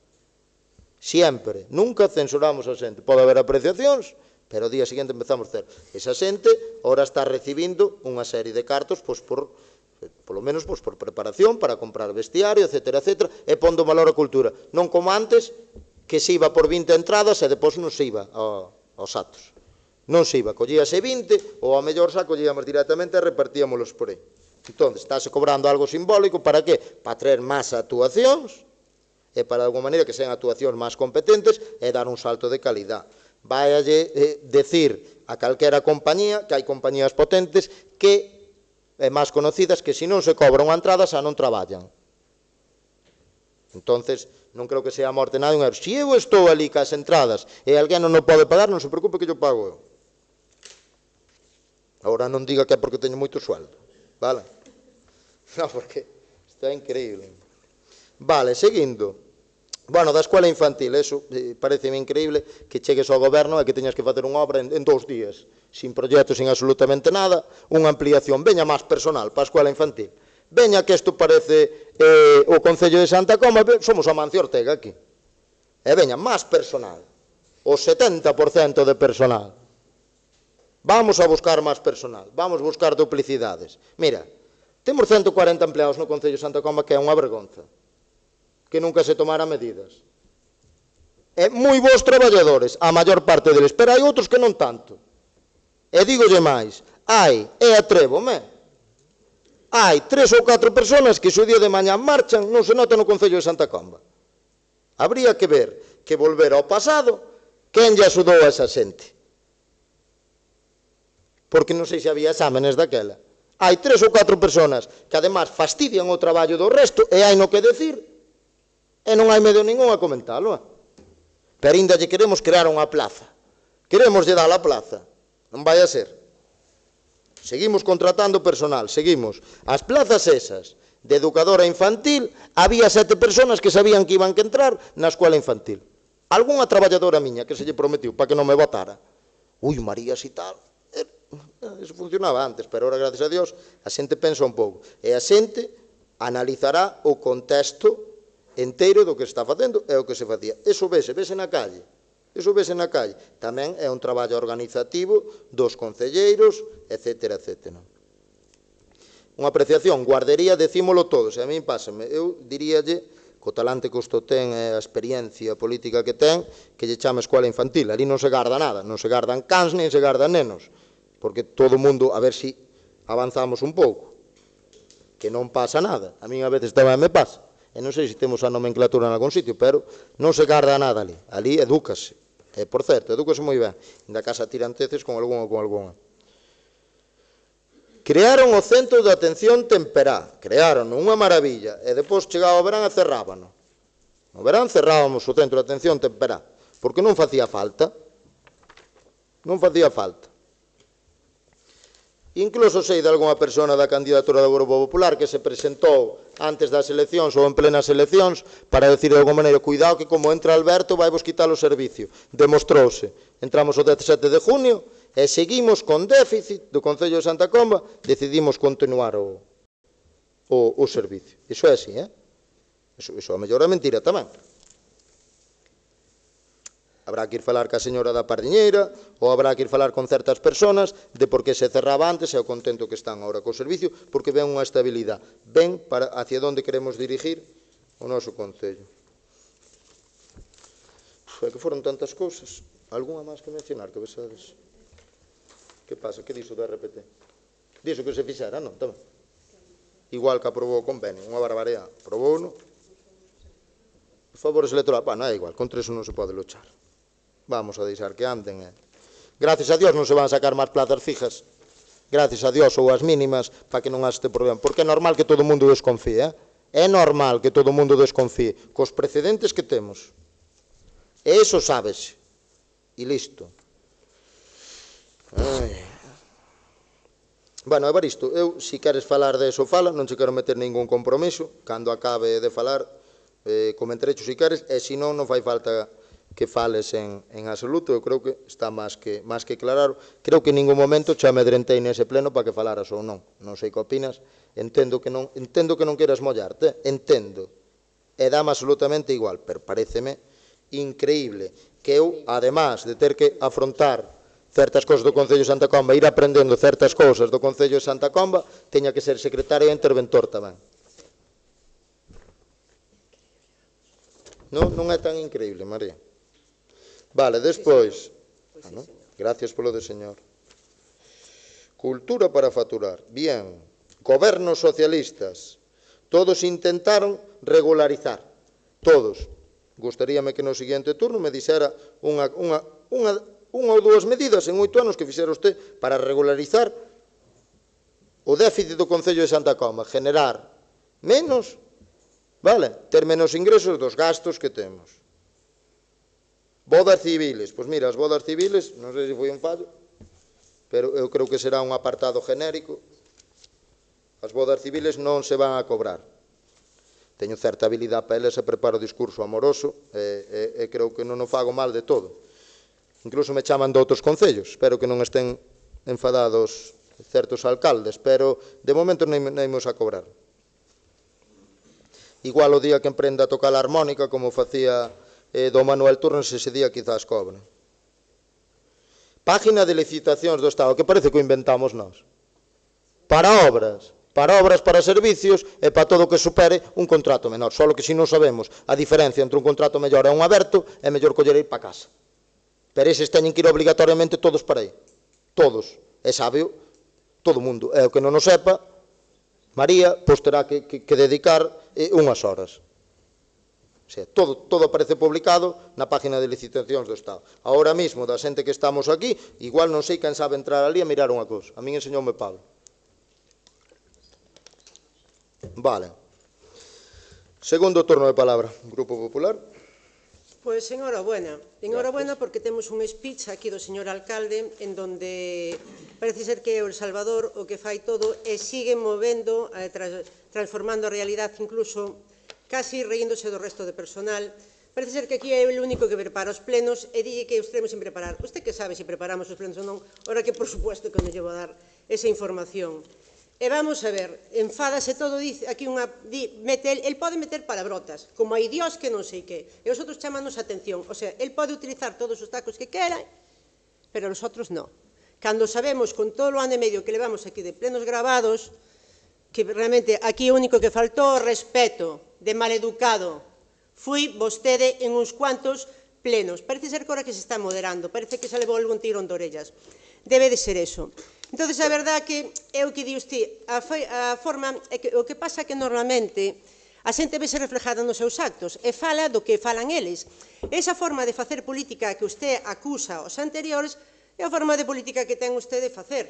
Speaker 1: nunca censuramos a xente. Pode haber apreciacións, pero o día seguinte empezamos cero. Esa xente ora está recibindo unha serie de cartos, pois, polo menos por preparación, para comprar vestiario, etcétera, etcétera, e pondo valor a cultura. Non como antes, que se iba por 20 entradas e depois non se iba aos actos. Non se iba, collíase 20, ou a mellor xa collíamos directamente e repartíamolos por aí. Entón, estáse cobrando algo simbólico, para que? Para traer máis actuacións, e para, de alguma maneira, que sean actuacións máis competentes e dar un salto de calidad. Váialle decir a calquera compañía, que hai compañías potentes que máis conocidas, que se non se cobra unha entrada xa non traballan. Entonces, non creo que sea a morte nada un euro. Se eu estou ali cas entradas e alguén non o pode pagar, non se preocupe que yo pago eu. Agora non diga que é porque teño moito sueldo, vale? Non, porque isto é increíble. Vale, seguindo. Bueno, da escola infantil, eso pareceme increíble, que chegues ao goberno e que teñas que facer unha obra en 2 días, sin proxecto, sin absolutamente nada, unha ampliación, veña máis personal para a escola infantil. Veña que isto parece o Concello de Santa Comba, somos a Mancio Ortega aquí. E veña máis personal, o 70% de personal. Vamos a buscar máis personal, vamos a buscar duplicidades. Mira, temos 140 empleados no Concello de Santa Comba, que é unha vergonza, que nunca se tomara medidas. E moi bons traballadores, a maior parte deles, pero hai outros que non tanto. E dígolle máis, e atrévome, hai 3 ou 4 personas que se o día de mañá marchan, non se nota no Concello de Santa Comba. Habría que ver, que volver ao pasado, quen lle axudou a esa xente. Porque non sei se había exámenes daquela. Hai 3 ou 4 personas que además fastidian o traballo do resto e hai no que decir, e non hai medio ningún a comentalo. Pero ainda lle queremos crear unha plaza. Queremos lle dar a plaza. Non vai a ser. Seguimos contratando personal, seguimos. As plazas esas de educadora infantil, había 7 personas que sabían que iban que entrar na escola infantil. Algúnha traballadora miña que se lle prometiu para que non me votara. Ui, Marías e tal. Eso funcionaba antes, pero ahora, gracias a Dios, a xente pensa un pouco. E a xente analizará o contexto enteiro do que está facendo e o que se facía. Eso vese na calle. Eso vese na calle. Tamén é un traballo organizativo dos concelleiros, etcétera, etcétera. Unha apreciación, guardería, decímolo todos, e a min pásame. Eu diríalle, co talante que isto ten e a experiencia política que ten, que lle chame escola infantil. Ali non se garda nada, non se gardan cans, nin se gardan nenos. Porque todo o mundo, a ver si avanzamos un pouco. Que non pasa nada. A min a veces tamén me pasa. E non sei se temos a nomenclatura en algún sitio, pero non se garda nada ali. Ali edúcase. E, por certo, edúcase moi ben. Da casa tiran teces con algún ou con algunha. Crearon o centro de atención temperá. Crearon unha maravilla. E depois chegaba o verán e cerrábano. No verán cerrábamos o centro de atención temperá. Porque non facía falta. Non facía falta. Incluso sei de algunha persona da candidatura do Grupo Popular que se presentou antes das eleccións ou en plenas eleccións para decir de alguma maneira, cuidado que como entra Alberto vai vos quitar o servicio. Demostrouse. Entramos o 17 de junio e seguimos con déficit do Concello de Santa Comba, decidimos continuar o servicio. Iso é así, Iso a mellor é mentira tamén. Habrá que ir falar ca señora da Pardiñeira ou habrá que ir falar con certas personas de por que se cerraba antes e o contento que están agora co servicio, porque ven unha estabilidade, ven para hacia onde queremos dirigir o noso Concello. É que foron tantas cousas. Algúnha máis que mencionar, que pensades? Que pasa? Que dixo do RPT? Dixo que se fixera, non? Tamén. Igual que aprobou o convenio, unha barbaridade. Aprobou uno. Os favores electorais, bueno, é igual, contra eso non se pode luchar. Vamos a deixar que anden. Gracias a Dios non se van a sacar máis plazas fijas. Gracias a Dios, ou as mínimas, para que non haxe este problema. Porque é normal que todo o mundo desconfíe. É normal que todo o mundo desconfíe. Cos precedentes que temos. E iso sábese. E listo. Bueno, Evaristo, eu, se queres falar de eso, fala. Non se quero meter ningún compromiso. Cando acabe de falar, comentarei se queres. E se non, non fai falta que fales en absoluto. Eu creo que está máis que claro. Creo que en ningún momento te amedrentei nese pleno para que falaras ou non. Non sei que opinas. Entendo que non queras mollarte. Entendo. E dame absolutamente igual. Pero pareceme increíble que eu, además de ter que afrontar certas cousas do Concello de Santa Comba, ir aprendendo certas cousas do Concello de Santa Comba, teña que ser secretario e interventor tamén. Non é tan increíble, María. Vale, despois, gracias polo de señor. Cultura para faturar. Bien, gobernos socialistas, todos intentaron regularizar, todos. Gustaríame que no seguinte turno me dixera unha ou dúas medidas en 8 anos que fixera usted para regularizar o déficit do Concello de Santa Comba, generar menos, vale, ter menos ingresos dos gastos que temos. Bodas civiles, pois mira, as bodas civiles, non sei se foi un fallo, pero eu creo que será un apartado genérico. As bodas civiles non se van a cobrar. Teño certa habilidade para eles e preparo discurso amoroso e creo que non o fago mal de todo. Incluso me chaman de outros concellos. Espero que non estén enfadados certos alcaldes, pero de momento non imos a cobrar. Igual o día que emprenda a tocar a armónica, como facía do Manuel Turnes, ese día quizás cobre. Página de licitacións do Estado, que parece que o inventamos nós. Para obras, para servicios e para todo o que supere un contrato menor. Só que se non sabemos a diferencia entre un contrato mellor e un aberto, é mellor coller ir para casa. Pero eses teñen que ir obligatoriamente todos para aí. Todos. E sabe todo o mundo. E o que non o sepa, María, pois terá que dedicar unhas horas. O sea, todo aparece publicado na página de licitacións do Estado. Ahora mismo, da xente que estamos aquí, igual non sei quen sabe entrar ali a mirar unha cousa. A min enseñoume Pablo. Vale. Segundo turno de palabra, Grupo Popular.
Speaker 2: Pois enhorabuena. Enhorabuena porque temos un speech aquí do señor alcalde en donde parece ser que é o El Salvador o que fai todo e sigue movendo, transformando a realidade, incluso casi reíndose do resto de personal. Parece ser que aquí é o único que prepara os plenos e dille que os tenemos sin preparar. Usted que sabe se preparamos os plenos ou non, ora que por supuesto que non lle vou dar esa información. E vamos a ver, enfádase todo, dice aquí el pode meter palabrotas, como hai Dios que non sei que, e os outros chamanos a atención, o sea, el pode utilizar todos os tacos que quera, pero os outros non. Cando sabemos, con todo o ano e medio que levamos aquí de plenos gravados, que realmente aquí o único que faltou respeto, de maleducado, fui vostede en uns cuantos plenos. Parece ser que ahora que se está moderando, parece que se levou algún tirón de orellas. Debe de ser eso. Entón, a verdade que é o que di usted, a forma, o que pasa que normalmente a xente vese reflejada nos seus actos e fala do que falan eles. Esa forma de facer política que usted acusa aos anteriores é a forma de política que ten usted de facer.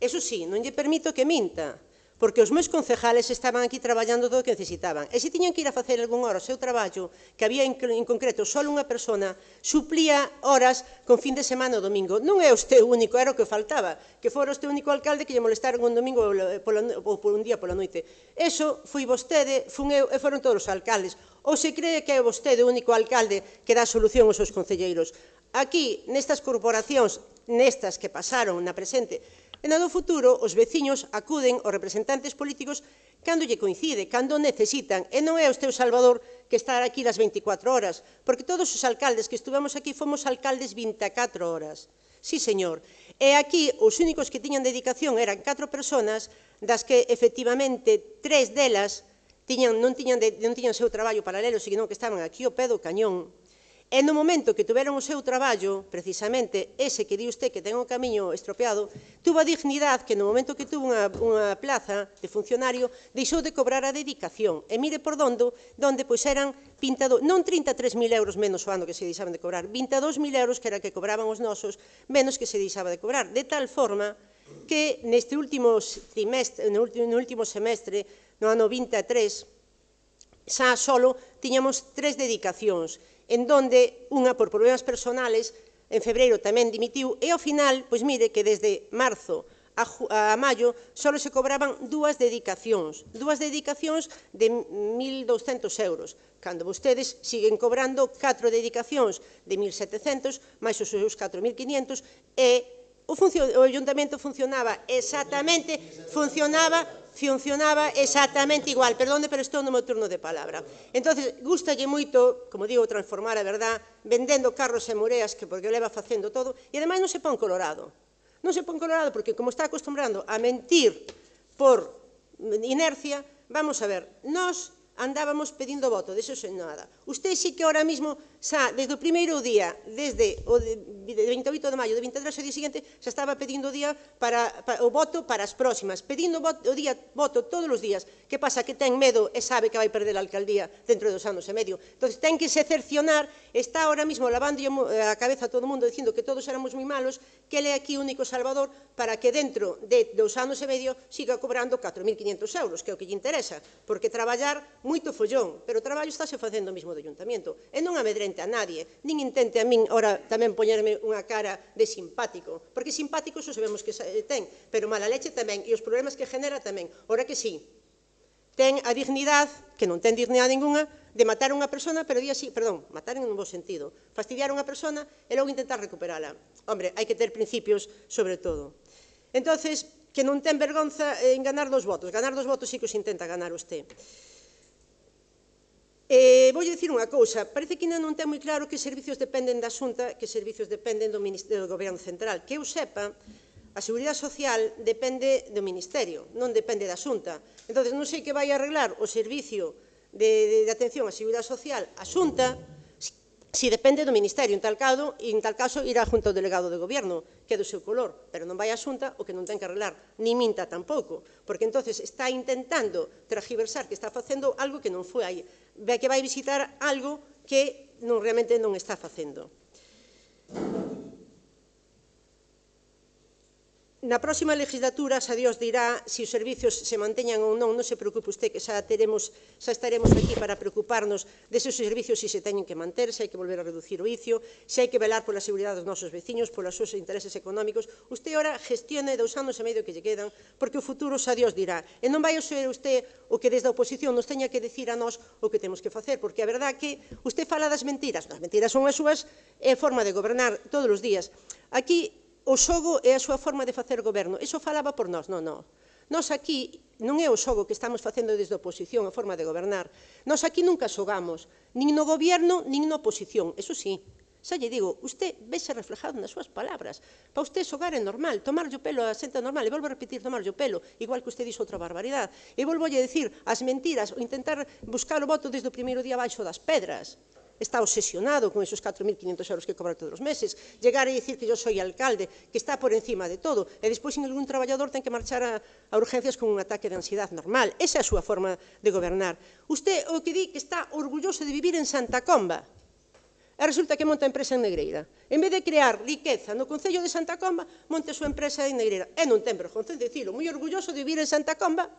Speaker 2: Eso sí, non lle permito que minta, porque os meus concejales estaban aquí traballando todo o que necesitaban. E se tiñan que ir a facer algún hora o seu traballo, que había en concreto só unha persona, suplía horas con fin de semana o domingo. Non é usted o único, era o que faltaba, que fora usted o único alcalde que lle molestaron un domingo ou por un día pola noite. Eso foi vostede, fun eu e foron todos os alcaldes. Ou se cree que é vostede o único alcalde que dá solución aos seus concelleiros. Aquí, nestas corporacións, nestas que pasaron na presente, e no futuro, os veciños acuden aos representantes políticos cando lle coincide, cando necesitan. E non é o seu Salvador que está aquí las 24 horas, porque todos os alcaldes que estuvemos aquí fomos alcaldes 24 horas. Sí, señor. E aquí os únicos que tiñan dedicación eran 4 personas, das que, efectivamente, 3 delas non tiñan seu traballo paralelo, senón que estaban aquí ao pé do cañón. E no momento que tuveron o seu traballo, precisamente, ese que di usted que ten un camiño estropeado, tuvo a dignidade que no momento que tuvo unha plaza de funcionario, deixou de cobrar a dedicación. E mire por donde pois eran non 33.000 euros menos o ano que se deixaban de cobrar, 22.000 euros que era que cobraban os nosos, menos que se deixaba de cobrar. De tal forma que neste último semestre, no ano 23, xa solo tiñamos 3 dedicacións, en donde unha por problemas personales, en febreiro tamén dimitiu, e ao final, pois mire que desde marzo a maio só se cobraban 2 dedicacións de 1.200 euros, cando vostedes siguen cobrando 4 dedicacións de 1.700, máis os seus 4.500, e o Ayuntamento funcionaba exactamente, funcionaba funcionaba exactamente igual. Perdone, pero estou no meu turno de palabra. Entón, gustalle moito, como digo, transformar a verdad, vendendo carros e moreas, que porque leva facendo todo, e ademais non se pon colorado. Non se pon colorado porque, como está acostumbrando a mentir por inercia, vamos a ver, nós andábamos pedindo voto, de eso sen nada. Usted sí que ahora mismo, desde o primeiro día, desde o 28 de maio, de 23 ao día seguinte, xa estaba pedindo o voto para as próximas, pedindo voto todos os días. Que pasa? Que ten medo e sabe que vai perder a alcaldía dentro de 2 anos e medio. Entón, ten que se cercionar, está ahora mismo lavando a cabeza a todo o mundo dicindo que todos éramos moi malos, que ele é aquí o único salvador para que dentro de 2 anos e medio siga cobrando 4.500 euros, que é o que lle interesa, porque traballar moito follón, pero o traballo estáse facendo mesmo do ayuntamiento. E non amedrente a nadie, nin intente a min, ora tamén poñerme unha cara de simpático, porque simpático xo sabemos que ten, pero mala leche tamén, e os problemas que genera tamén. Ora que sí, ten a dignidade, que non ten dignidade ninguna, de matar a unha persona, pero di así, perdón, matar en un bo sentido, fastidiar a unha persona e logo intentar recuperala. Hombre, hai que ter principios sobre todo. Entonces, que non ten vergonza en ganar 2 votos. Ganar 2 votos sí que os intenta ganar usted. Voulle dicir unha cousa, parece que ainda non ten moi claro que servicios dependen da Xunta, que servicios dependen do Goberno Central. Que eu sepa, a Seguridade Social depende do Ministerio, non depende da Xunta. Entón, non sei que vai arreglar o servicio de atención á Seguridade Social a Xunta, si depende do Ministerio. En tal caso, irá junto ao delegado de Goberno, que é do seu color, pero non vai á Xunta, o que non ten que arreglar, ni minta tampouco, porque entonces está intentando tergiversar que está facendo algo que non foi aí, que vai visitar algo que realmente non está facendo. Na próxima legislatura, xa Dios dirá se os servicios se manteñan ou non, non se preocupe usted que xa estaremos aquí para preocuparnos deses servicios se se teñen que manter, se hai que volver a reducir o vicio, se hai que velar pola seguridade dos nosos veciños, polos seus intereses económicos. Usted ora gestione 2 anos e medio que lle quedan, porque o futuro xa Dios dirá. E non vai ser usted o que desde a oposición nos teña que decir a nós o que temos que facer, porque a verdade que usted fala das mentiras. As mentiras son as súas forma de gobernar todos os días. Aquí, o xogo é a súa forma de facer goberno. Iso falaba por nós, non. Nós aquí non é o xogo que estamos facendo desde a oposición, a forma de gobernar. Nós aquí nunca xogamos, nin no goberno, nin na oposición. Eso sí, xa lle digo, usted vese reflejado nas súas palabras. Para usted xogar é normal, tomarlle o pelo a xente normal, e volvo a repetir, tomarlle o pelo, igual que usted dixo outra barbaridade. E volvo a dicir, as mentiras, o intentar buscar o voto desde o primeiro día baixo das pedras. Está obsesionado con esos 4.500 euros que cobra todos os meses, llegar a dicir que yo soy alcalde, que está por encima de todo, e despois ningún traballador ten que marchar a urgencias con un ataque de ansiedade normal. Esa é a súa forma de gobernar. Usted o que di que está orgulloso de vivir en Santa Comba, e resulta que monta empresa en Negreira. En vez de crear riqueza no Concello de Santa Comba, monta a súa empresa en Negreira. E non ten vergonza de dicilo, moi orgulloso de vivir en Santa Comba,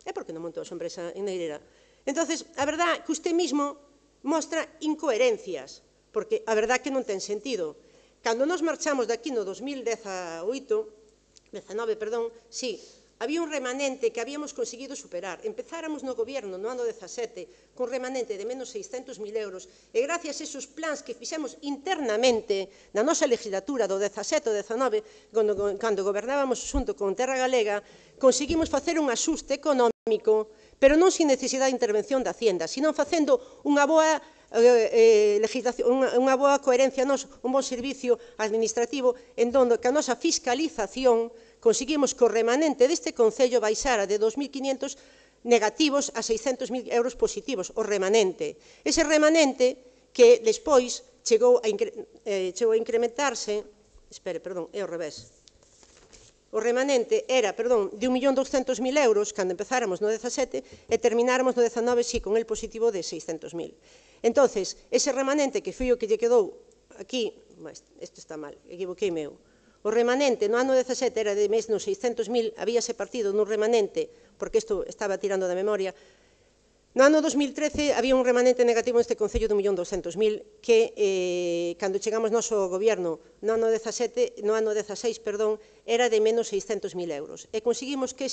Speaker 2: e por que non montou a súa empresa en Negreira? Entón, a verdade que usted mismo mostra incoherencias, porque a verdade que non ten sentido. Cando nos marchamos daqui no 2019, sí, había un remanente que habíamos conseguido superar. Empezáramos no goberno no ano 17 con remanente de menos 600.000 euros e gracias a esos plans que fixemos internamente na nosa legislatura do 17 ou 19, cando gobernábamos xunto con Terra Galega, conseguimos facer un axuste económico, pero non sin necesidade de intervención da Hacienda, sino facendo unha boa legislación, unha boa coherencia, un bon servicio administrativo en donde que a nosa fiscalización conseguimos que o remanente deste Concello baixara de 2.500 negativos a 600.000 euros positivos, o remanente. Ese remanente que despois chegou a incrementarse, é ao revés, o remanente era, de 1.200.000 euros cando empezáramos no 17 e termináramos no 19, sí, con el positivo de 600.000. Entón, ese remanente que foi o que lle quedou aquí, isto está mal, equivoqueime eu, o remanente no ano 17 era de menos 600.000, habíase partido nun remanente, porque isto estaba tirando da memoria. No ano 2013 había un remanente negativo neste Concello de 1.200.000 que, cando chegamos noso goberno no ano 16, era de menos 600.000 euros. E conseguimos que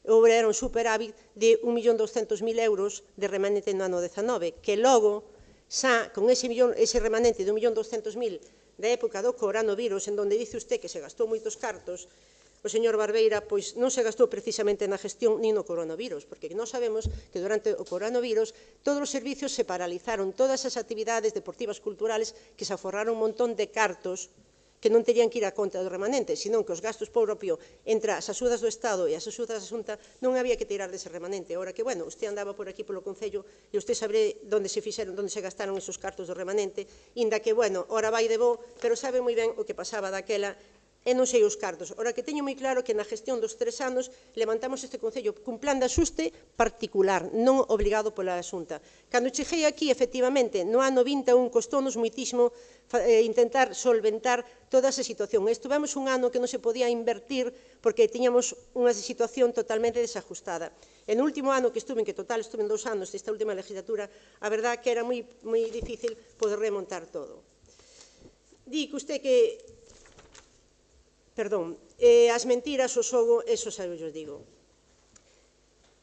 Speaker 2: houbera un superávit de 1.200.000 euros de remanente no ano 19, que logo, xa con ese remanente de 1.200.000 da época do coronavirus, en donde dice usted que se gastou moitos cartos, o señor Barbeira, pois non se gastou precisamente na gestión nin no coronavirus, porque nós sabemos que durante o coronavirus todos os servicios se paralizaron, todas as actividades deportivas culturales que se aforraron un montón de cartos que non terían que ir a conta do remanente, senón que os gastos propio entre as axudas do Estado e as axudas da Xunta non había que tirar dese remanente. Ora que, bueno, usted andaba por aquí polo Concello e usted sabré onde se fixeron, onde se gastaron esos cartos do remanente, inda que, bueno, ora vai de bo, pero sabe moi ben o que pasaba daquela e non sei os cartos. Ora que teño moi claro que na gestión dos 3 anos levantamos este Concello cun plan de axuste particular, non obligado pola Xunta. Cando cheguei aquí, efectivamente, no ano 21 costónos moitísimo intentar solventar toda esa situación. Estuvemos un ano que non se podía invertir porque tiñamos unha situación totalmente desajustada. En o último ano que estuve, que total estuve en 2 anos desta última legislatura, a verdad que era moi difícil poder remontar todo. Di que usted que perdón, as mentiras, o xogo, eso xa vos digo.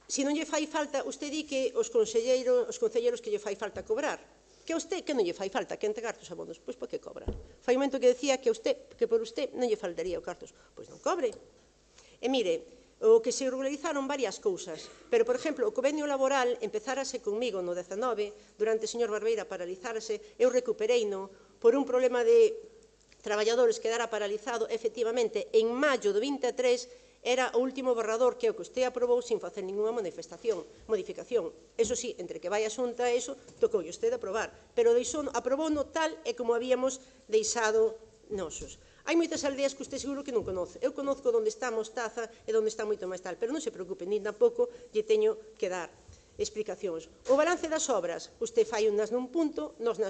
Speaker 2: Se non lle fai falta, usted di que os concelleiros que lle fai falta cobrar, que a usted que non lle fai falta que entregar os abonos, pois por que cobra? Fai un momento que decía que por usted non lle faltaría o cartos, pois non cobre. E mire, o que se regularizaron varias cousas, pero, por exemplo, o convenio laboral empezárase comigo no 19, durante o señor Barbeira paralizarse, eu recupereino por un problema de traballadores quedara paralizado, efectivamente, en maio do 23 era o último borrador que o que usted aprobou sin facer ninguna modificación. Eso sí, entre que vai a Xunta, eso tocou usted aprobar, pero aprobou no tal e como habíamos deixado nosos. Hai moitas aldeas que usted seguro que non conoce. Eu conozco onde está Mostaza e onde está moito máis tal, pero non se preocupe, nin tampouco lle teño que dar explicacións. O balance das obras, usted fai unhas nun punto, nas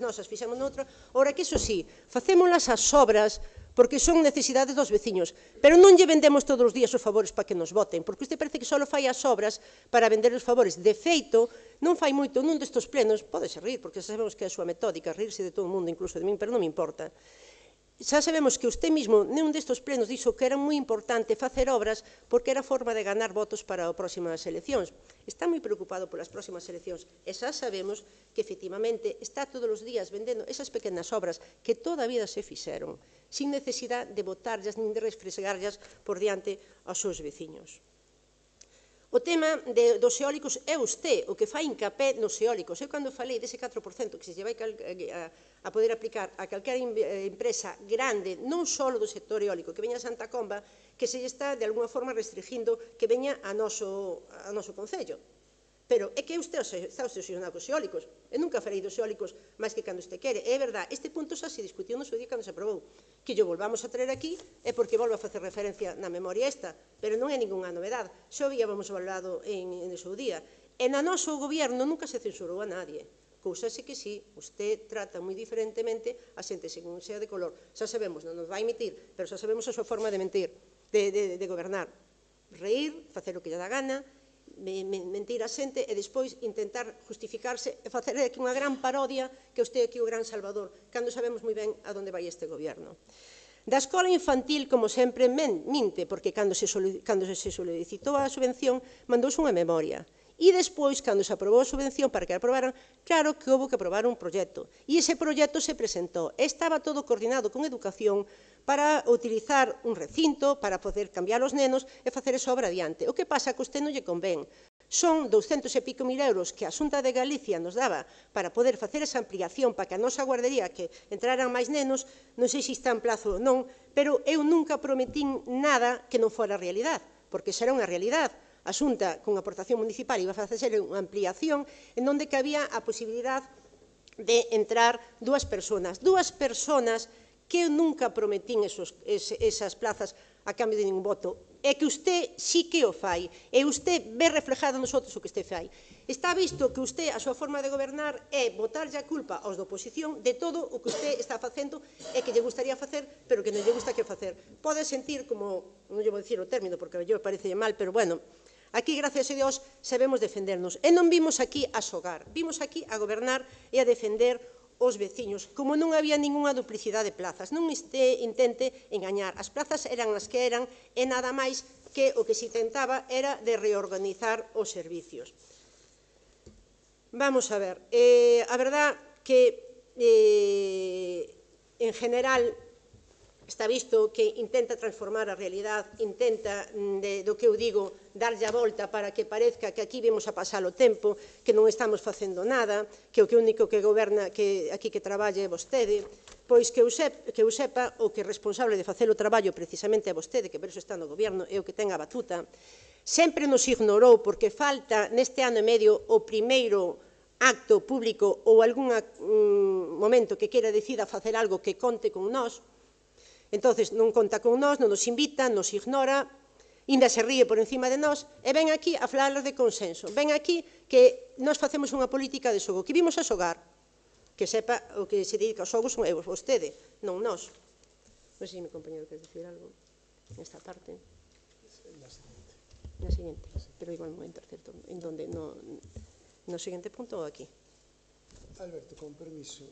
Speaker 2: nosas fixemos noutra, ora que iso sí, facémolas as obras porque son necesidades dos veciños, pero non lle vendemos todos os días os favores para que nos voten, porque usted parece que só fai as obras para vender os favores. De feito, non fai moito nun destos plenos, pódese rir, porque sabemos que é a súa metódica, rirse de todo o mundo, incluso de min, pero non me importa. Xa sabemos que usted mesmo, nun destos plenos, dixo que era moi importante facer obras porque era forma de ganar votos para as próximas eleccións. Está moi preocupado polas próximas eleccións e xa sabemos que, efectivamente, está todos os días vendendo esas pequenas obras que toda a vida se fixeron, sin necesidade de votarllas nin de refresgarllas por diante aos seus veciños. O tema dos eólicos é usted o que fai incapé nos eólicos. Eu, cando falei dese 4% que se lle vai a poder aplicar a calquera empresa grande, non só do sector eólico, que veña a Santa Comba, que se lle está, de alguna forma, restringindo que veña a noso Concello. Pero é que usted está obsesionado cos eólicos. Eu nunca farei dos eólicos máis que cando usted quere. É verdad, este punto xa se discutiu no seu día cando se aprobou. Que lle volvamos a traer aquí é porque volve a facer referencia na memoria esta, pero non é ningunha novedade. Xa habíamos valorado en o seu día. E na noso goberno nunca se censurou a nadie. Cousa é que sí, usted trata moi diferentemente a xente según sea de color. Xa sabemos, non nos vai mentir, pero xa sabemos a súa forma de mentir, de gobernar. Reír, facer o que lle dá gana, mentir a xente e despois intentar justificarse e facer aquí unha gran parodia que usted é aquí o gran salvador, cando sabemos moi ben a onde vai este goberno. Da escola infantil, como sempre, minte, porque cando se solicitou a subvención, mandouse unha memoria. E despois, cando se aprobou a subvención para que a aprobaran, claro que houve que aprobar un proxecto. E ese proxecto se presentou. Estaba todo coordinado con educación para utilizar un recinto, para poder cambiar os nenos e facer esa obra adiante. O que pasa que a usted non lle convén. Son 200 e pico mil euros que a Xunta de Galicia nos daba para poder facer esa ampliación para que a nosa guardería que entraran máis nenos, non sei se está en plazo ou non, pero eu nunca prometín nada que non fora realidade, porque será unha realidade. A Xunta, con aportación municipal, iba a facer unha ampliación en onde cabía a posibilidade de entrar dúas persoas que eu nunca prometín esas plazas a cambio de ningún voto. É que usted sí que o fai, e usted ve reflejado nos outros o que usted fai. Está visto que usted, a súa forma de gobernar, é botarlle a culpa aos da oposición de todo o que usted está facendo e que lle gustaría facer, pero que non lle gusta que facer. Pode sentir como, non lle vou dicir o término, porque a yo parece mal, pero bueno, aquí, gracias a Dios, sabemos defendernos. E non vimos aquí a xogar, vimos aquí a gobernar e a defender os veciños, como non había ningunha duplicidade de plazas. Non intente engañar. As plazas eran as que eran e nada máis que o que se intentaba era de reorganizar os servicios. Vamos a ver. A verdad que, en general, está visto que intenta transformar a realidade, intenta, do que eu digo, darlle a volta para que parezca que aquí vimos a pasar o tempo, que non estamos facendo nada, que o único que goberna aquí que traballe é vostede, pois que eu sepa, o que é responsable de facer o traballo precisamente é vostede, que por iso está no goberno, é o que ten a batuta, sempre nos ignorou porque falta neste ano e medio o primeiro acto público ou algún momento que queira decida facer algo que conte con nós. Entón, non conta con nós, non nos invita, nos ignora, ainda se ríe por encima de nós, e ven aquí a falar de consenso. Ven aquí que nós facemos unha política de xogo, que vimos a xogar, que sepa o que se dedica aos xogos son vostede, non nós. Non sei se mi compañero quer dicir algo nesta parte. Na seguinte, pero igual non entro, certo? En donde, no seguinte punto ou aquí?
Speaker 3: Alberto, con permiso.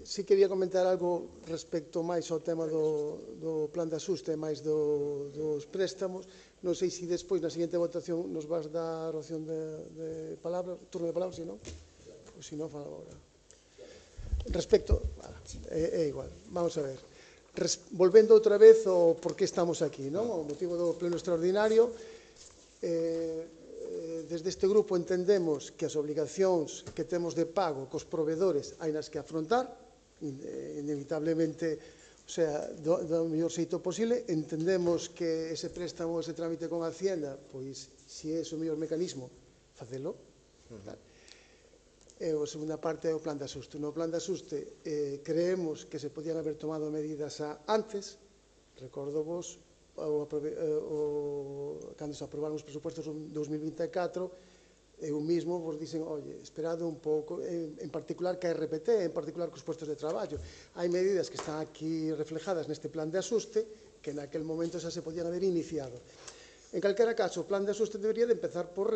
Speaker 3: Si quería comentar algo respecto máis ao tema do plan de axuste, máis dos préstamos. Non sei se despois, na seguinte votación, nos vas dar opción de palabra, turno de palabra, se non? Ou se non, fala agora. Respecto, é igual, vamos a ver. Volvendo outra vez ao por que estamos aquí, non? O motivo do pleno extraordinario, desde este grupo entendemos que as obligacións que temos de pago cos proveedores hai nas que afrontar, inevitablemente, o sea, do mellor xeito posible. Entendemos que ese préstamo, ese trámite con Hacienda, pois, se é o mellor mecanismo, facelo. E a segunda parte é o plan de axuste. No plan de axuste creemos que se podían haber tomado medidas antes. Recordo-vos, cando se aprobaron os presupuestos de 2024, eu mismo vos dixen, oye, esperado un pouco, en particular que a RPT, en particular cos postos de traballo. Hai medidas que están aquí reflejadas neste plan de axuste que naquel momento xa se podían haber iniciado. En calquera caso, o plan de axuste debería de empezar por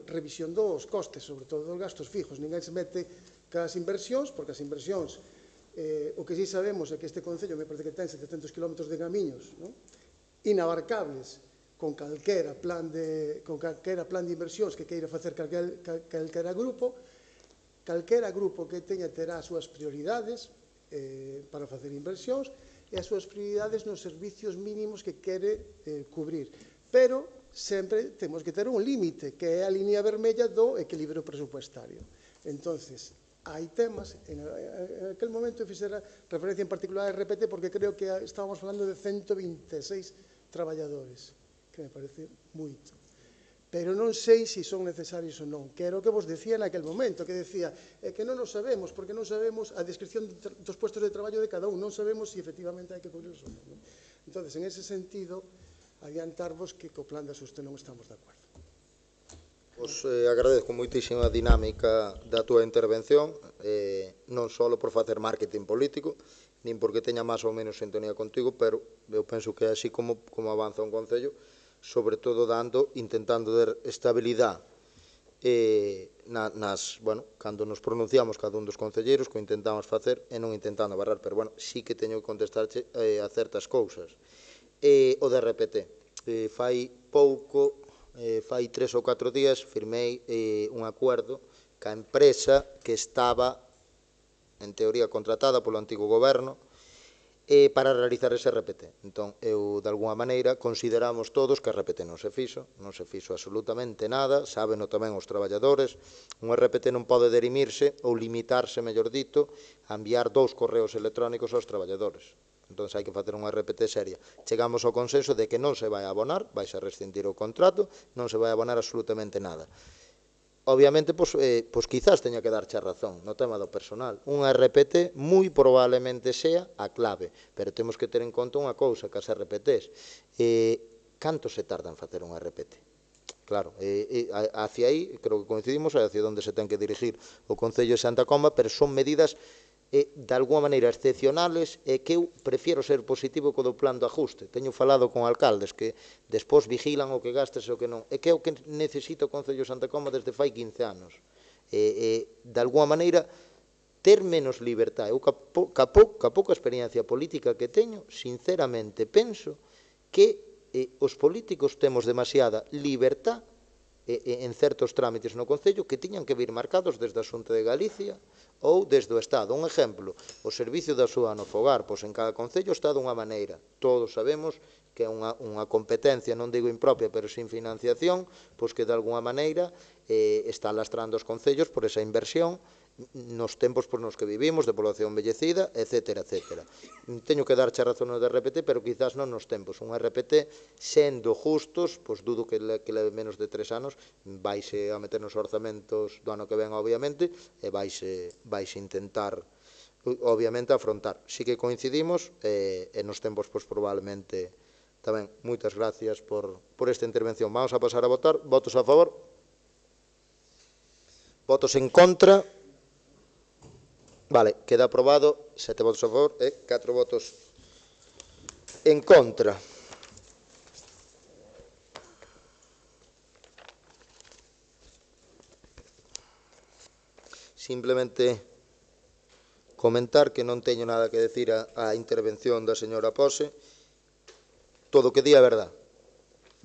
Speaker 3: revisión dos costes, sobre todo dos gastos fijos. Ninguén se mete cas inversións, porque as inversións, o que sí sabemos é que este Concello me parece que ten 700 km de camiños inabarcables con calquera plan de inversións que queira facer calquera grupo. Calquera grupo que teña terá as súas prioridades para facer inversións e as súas prioridades nos servicios mínimos que quere cubrir. Pero sempre temos que ter un límite, que é a línea vermella do equilibrio presupuestario. Entonces, hai temas, en aquel momento eu fixera referencia en particular a RPT porque creo que estábamos falando de 126 traballadores, que me parece moito. Pero non sei se son necesarios ou non, que era o que vos decía naquel momento, que decía, é que non o sabemos, porque non sabemos a descripción dos puestos de traballo de cada un, non sabemos se efectivamente hai que cubrirlos ou non. Entón, en ese sentido, adiantarvos que co plan de axuste non estamos de acordo.
Speaker 1: Os agradezco moitísimo a dinámica da túa intervención, non só por facer marketing político, nin porque teña máis ou menos sintonía contigo, pero eu penso que é así como avanza un Concello, sobre todo intentando dar estabilidade cando nos pronunciamos cada un dos concelleiros, que intentamos facer e non intentando barrar, pero sí que teño que contestarche a certas cousas. O de RPT, fai pouco, fai 3 ou 4 días, firmei un acordo ca empresa que estaba, en teoría, contratada polo antigo goberno para realizar ese RPT. Entón, eu, de alguna maneira, consideramos todos que a RPT non se fixo absolutamente nada, sábeno tamén os traballadores. Un RPT non pode derimirse ou limitarse, mellor dito, a enviar 2 correos electrónicos aos traballadores. Entón, hai que facer unha RPT seria. Chegamos ao consenso de que non se vai abonar, vais a rescindir o contrato, non se vai abonar absolutamente nada. Obviamente, quizás teña que darche a razón no tema do personal. Unha RPT moi probablemente sea a clave, pero temos que ter en conta unha cousa, que as RPTs, canto se tarda en facer unha RPT? Claro, hacia aí, creo que coincidimos, é hacia onde se ten que dirigir o Concello de Santa Comba, pero son medidas de alguna maneira excepcionales e que eu prefiero ser positivo co do plan do ajuste. Teño falado con alcaldes que despois vigilan o que gastas e o que non. E que é o que necesita o Concello de Santa Comba desde fai 15 anos. De alguna maneira, ter menos libertad. Eu, ca pouca experiencia política que teño, sinceramente penso que os políticos temos demasiada libertad en certos trámites no Concello que tiñan que vir marcados desde a Xunta de Galicia ou desde o Estado. Un exemplo, o servicio de axuda no fogar, pois en cada Concello está dunha maneira. Todos sabemos que é unha competencia, non digo impropia, pero sin financiación, pois que de alguna maneira está lastrando os concellos por esa inversión nos tempos por nos que vivimos, de población envellecida, etc. Teño que darche a razón no de RPT, pero quizás non nos tempos. Un RPT, sendo justos, pois dudo que leve menos de 3 anos, vaise a meter nos orzamentos do ano que ven, obviamente, e vaise intentar, obviamente, afrontar. Si que coincidimos, e nos tempos, pois, probablemente, tamén, moitas gracias por esta intervención. Vamos a pasar a votar. Votos a favor? Votos en contra? Vale, queda aprobado, 7 votos a favor e 4 votos en contra. Simplemente comentar que non teño nada que decir á intervención da señora Pose. Todo o que di é verdad.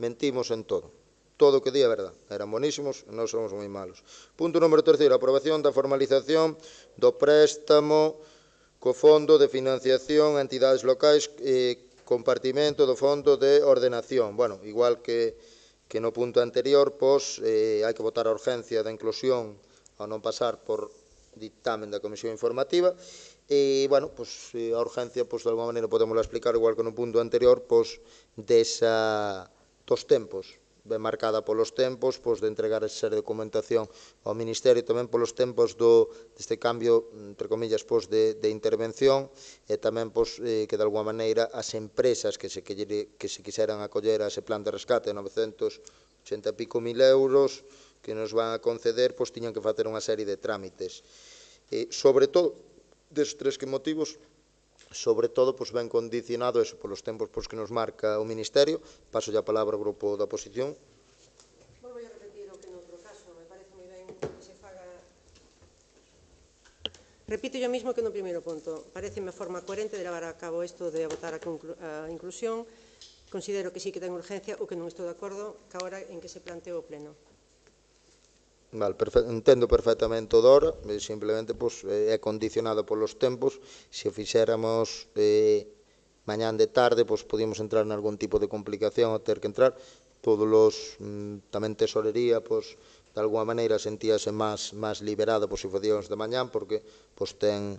Speaker 1: Mentimos en todo. Todo o que di é verdad. Eran bonísimos, non somos moi malos. Punto número 3, aprobación da formalización do préstamo co Fondo de Financiación a Entidades Locais, compartimento do Fondo de Ordenación. Bueno, igual que no punto anterior, pois hai que votar a urgencia da inclusión ao non pasar por dictamen da Comisión Informativa. E, bueno, pois a urgencia, pois de alguma maneira podemos explicar, igual que no punto anterior, pois dos tempos, ben marcada polos tempos, pois de entregar esa documentación ao Ministerio, tamén polos tempos deste cambio, entre comillas, pois de intervención, e tamén, pois, que de alguma maneira as empresas que se quixeran acoller a ese plan de rescate de 980 e pico mil euros que nos van a conceder, pois tiñan que facer unha serie de trámites. Sobre todo, destes tres motivos, sobre todo, pois ben condicionado eso polos tempos pois que nos marca o Ministerio. Paso a palabra ao grupo da oposición.
Speaker 2: Volvo a repetir o que noutro caso, me parece moi ben que se faga. Repito yo mismo que no primeiro punto. Pareceme a forma coherente de levar a cabo isto de votar a inclusión. Considero que sí que ten urgencia, o que non estou de acordo ca hora en que se planteou o pleno.
Speaker 1: Vale, entendo perfectamente o de hora, simplemente é condicionado polos tempos. Se o fixéramos mañán de tarde, podíamos entrar en algún tipo de complicación ou ter que entrar. Todos os, tamén tesorería, de alguma maneira sentíase máis liberado se facíamos de mañán, porque ten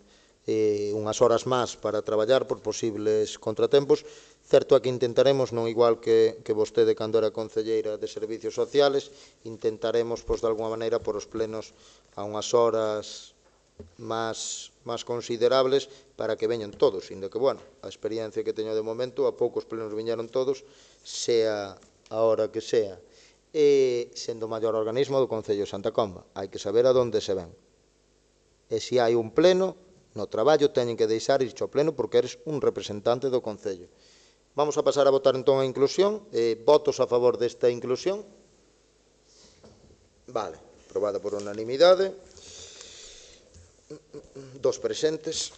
Speaker 1: unhas horas máis para traballar por posibles contratempos. Certo é que intentaremos, non igual que vostede cando era concelleira de Servicios Sociales, intentaremos, de alguma maneira, por os plenos a unhas horas máis considerables para que veñan todos, inda que, bueno, a experiencia que teño de momento, a poucos plenos viñeron todos, sea a hora que sea. E, sendo o maior organismo do Concello de Santa Comba, hai que saber a onde se ven. E se hai un pleno, no traballo teñen que deixar irse ao pleno porque eres un representante do Concello. Vamos a pasar a votar entón a inclusión. Votos a favor desta inclusión? Vale, aprobada por unanimidade. 2 presentes.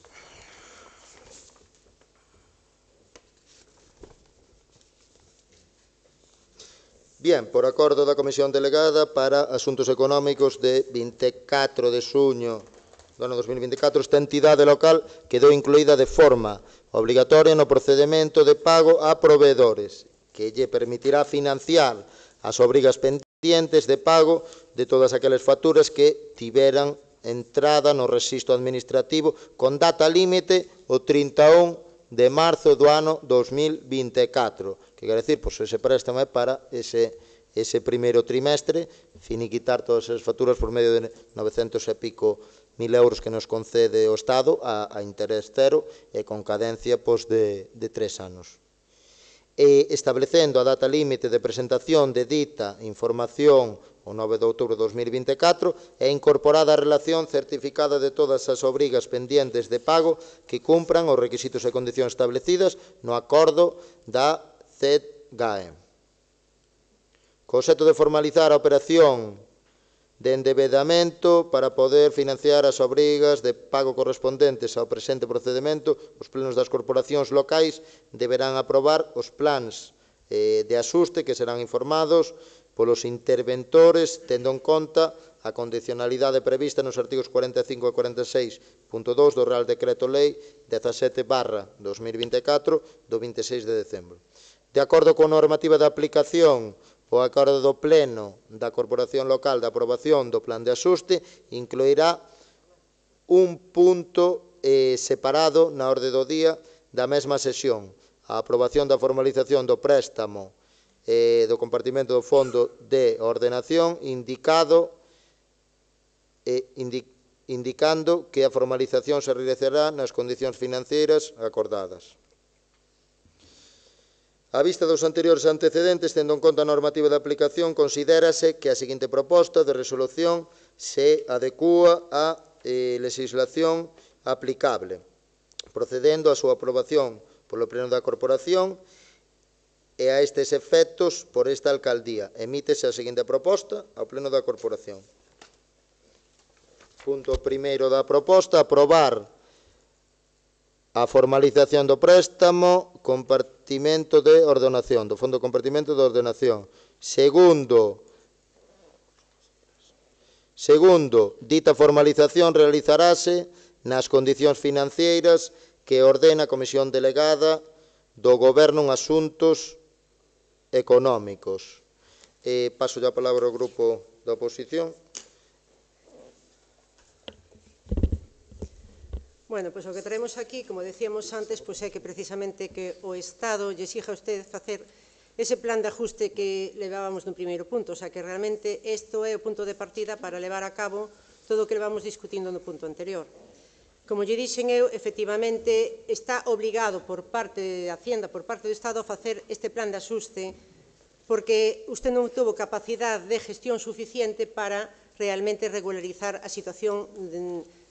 Speaker 1: Bien, por acordo da Comisión Delegada para Asuntos Económicos de 24 de xuño do ano 2024, esta entidade local quedou incluída de forma obligatoria no procedemento de pago a proveedores, que lle permitirá financiar as obrigas pendientes de pago de todas aquelas facturas que tiveran entrada no rexistro administrativo con data límite o 31 de marzo do ano 2024. Que quer decir, ese préstamo é para ese primeiro trimestre, finiquitar todas as facturas por medio de 900 e pico mil euros que nos concede o Estado a interés cero e con cadencia de 3 anos. Establecendo a data límite de presentación de dita información o 9 de outubro de 2024 e incorporada a relación certificada de todas as obrigas pendientes de pago que cumpran os requisitos e condicións establecidas no acordo da CEDGAE. Co obxecto de formalizar a operación de endebedamento para poder financiar as obrigas de pago correspondentes ao presente procedemento, os plenos das corporacións locais deberán aprobar os plans de axuste que serán informados polos interventores, tendo en conta a condicionalidade prevista nos artigos 45 e 46.2 do Real Decreto Lei 17/2024 do 26 de decembro. De acordo con a normativa de aplicación, o acordo do Pleno da Corporación Local de aprobación do Plan de Axuste incluirá un punto separado na orde do día da mesma sesión, a aprobación da formalización do préstamo do compartimento do Fondo de Ordenación indicando que a formalización se realizará nas condicións financeiras acordadas. A vista dos anteriores antecedentes, tendo en conta a normativa de aplicación, considérase que a seguinte proposta de resolución se adecúa á legislación aplicable, procedendo á súa aprobación polo Pleno da Corporación e a estes efectos por esta alcaldía. Emítese a seguinte proposta ao Pleno da Corporación. Punto primeiro da proposta, aprobar a formalización do préstamo compartimento de ordenación, do Fondo de Compartimento de Ordenación. Segundo, dita formalización realizarase nas condicións financeiras que ordena a Comisión Delegada do Goberno en Asuntos Económicos. Paso a palabra ao grupo da oposición.
Speaker 2: Bueno, pois o que traemos aquí, como decíamos antes, pois é que precisamente que o Estado lle exija a usted facer ese plan de ajuste que levábamos no primeiro punto, o sea que realmente isto é o punto de partida para levar a cabo todo o que levamos discutindo no punto anterior. Como lle dixen eu, efectivamente, está obligado por parte de Hacienda, por parte do Estado, a facer este plan de axuste porque usted non tuvo capacidade de gestión suficiente para realmente regularizar a situación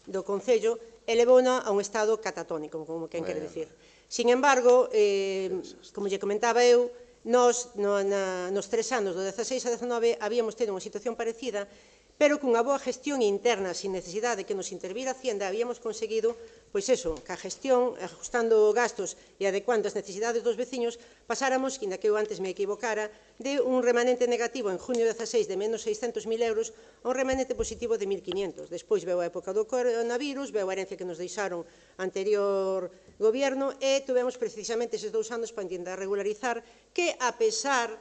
Speaker 2: do Concello e levouna a un estado catatónico, como quen quere dicir. Sin embargo, como lle comentaba eu, nos 3 anos, do 16 a 19, habíamos tido unha situación parecida, pero cunha boa gestión interna, sin necesidade de que nos intervira a Hacienda, habíamos conseguido, pois eso, que a gestión, ajustando gastos e adecuando as necesidades dos veciños, pasáramos, ainda que eu antes me equivocara, de un remanente negativo en junio 16 de menos 600.000 euros a un remanente positivo de 1.500. Despois veu a época do coronavirus, veu a herencia que nos deixaron anterior goberno e tuvemos precisamente eses 2 anos para intentar regularizar que, a pesar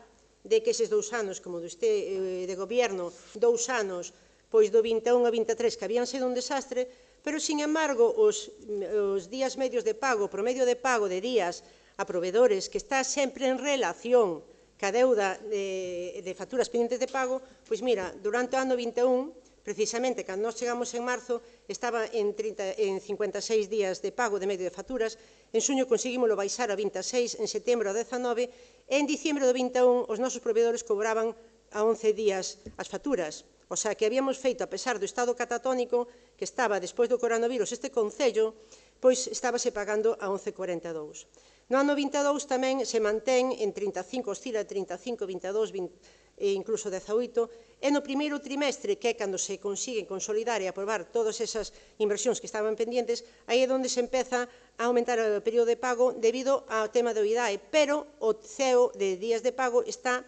Speaker 2: de que eses 2 anos, como do este de goberno, 2 anos, pois do 21 a 23, que habían sido un desastre, pero, sin embargo, os días medios de pago, o promedio de pago de días a proveedores, que está sempre en relación ca deuda de facturas pendentes de pago, pois mira, durante o ano 21, precisamente, cando nós chegamos en marzo, estaba en 56 días de pago de medio de facturas, en xuño conseguímoslo baixar a 26, en setembro a 19, e en diciembre do 21 os nosos proveedores cobraban a 11 días as facturas. O sea, que habíamos feito, a pesar do estado catatónico que estaba despois do coronavirus este Concello, pois estábase pagando a 11,42. No ano 22 tamén se mantén en 35, oscila 35, 22, 20, e incluso 18, e no primeiro trimestre, que é cando se consiguen consolidar e aprobar todas esas inversións que estaban pendientes, aí é onde se empeza a aumentar o período de pago debido ao tema do IDAE, pero o CEO de días de pago está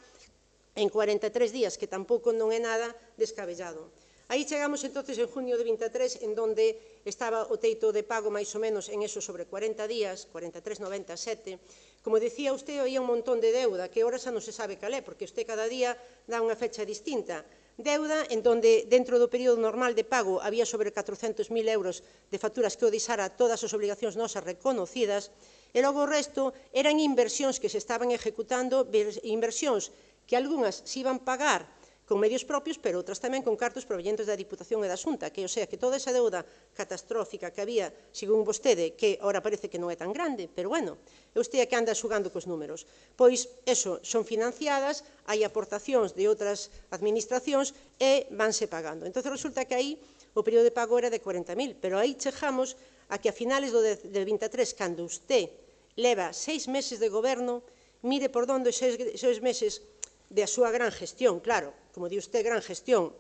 Speaker 2: en 43 días, que tampouco non é nada descabellado. Aí chegamos entonces en junio de 23, en donde estaba o teito de pago máis ou menos en eso sobre 40 días, 43,97. Como decía usted, había un montón de deuda, que ahora xa non se sabe cal é, porque usted cada día dá unha fecha distinta. Deuda en donde dentro do período normal de pago había sobre 400.000 euros de facturas que o deixara todas as obligacións nosas reconocidas, e logo o resto eran inversións que se estaban ejecutando, inversións que algunhas se iban pagar con medios propios, pero outras tamén con cartos provenientes da Diputación e da Xunta, que, o sea, que toda esa deuda catastrófica que había, según vostede, que ahora parece que non é tan grande, pero, bueno, é usted que anda xugando cos números. Pois, eso, son financiadas, hai aportacións de outras administracións e vanse pagando. Entón, resulta que aí o período de pago era de 40.000, pero aí chegamos a que a finales do 23, cando usted leva 6 meses de goberno, mire por donde 6 meses de a súa gran gestión, claro, como di usted, gran gestión,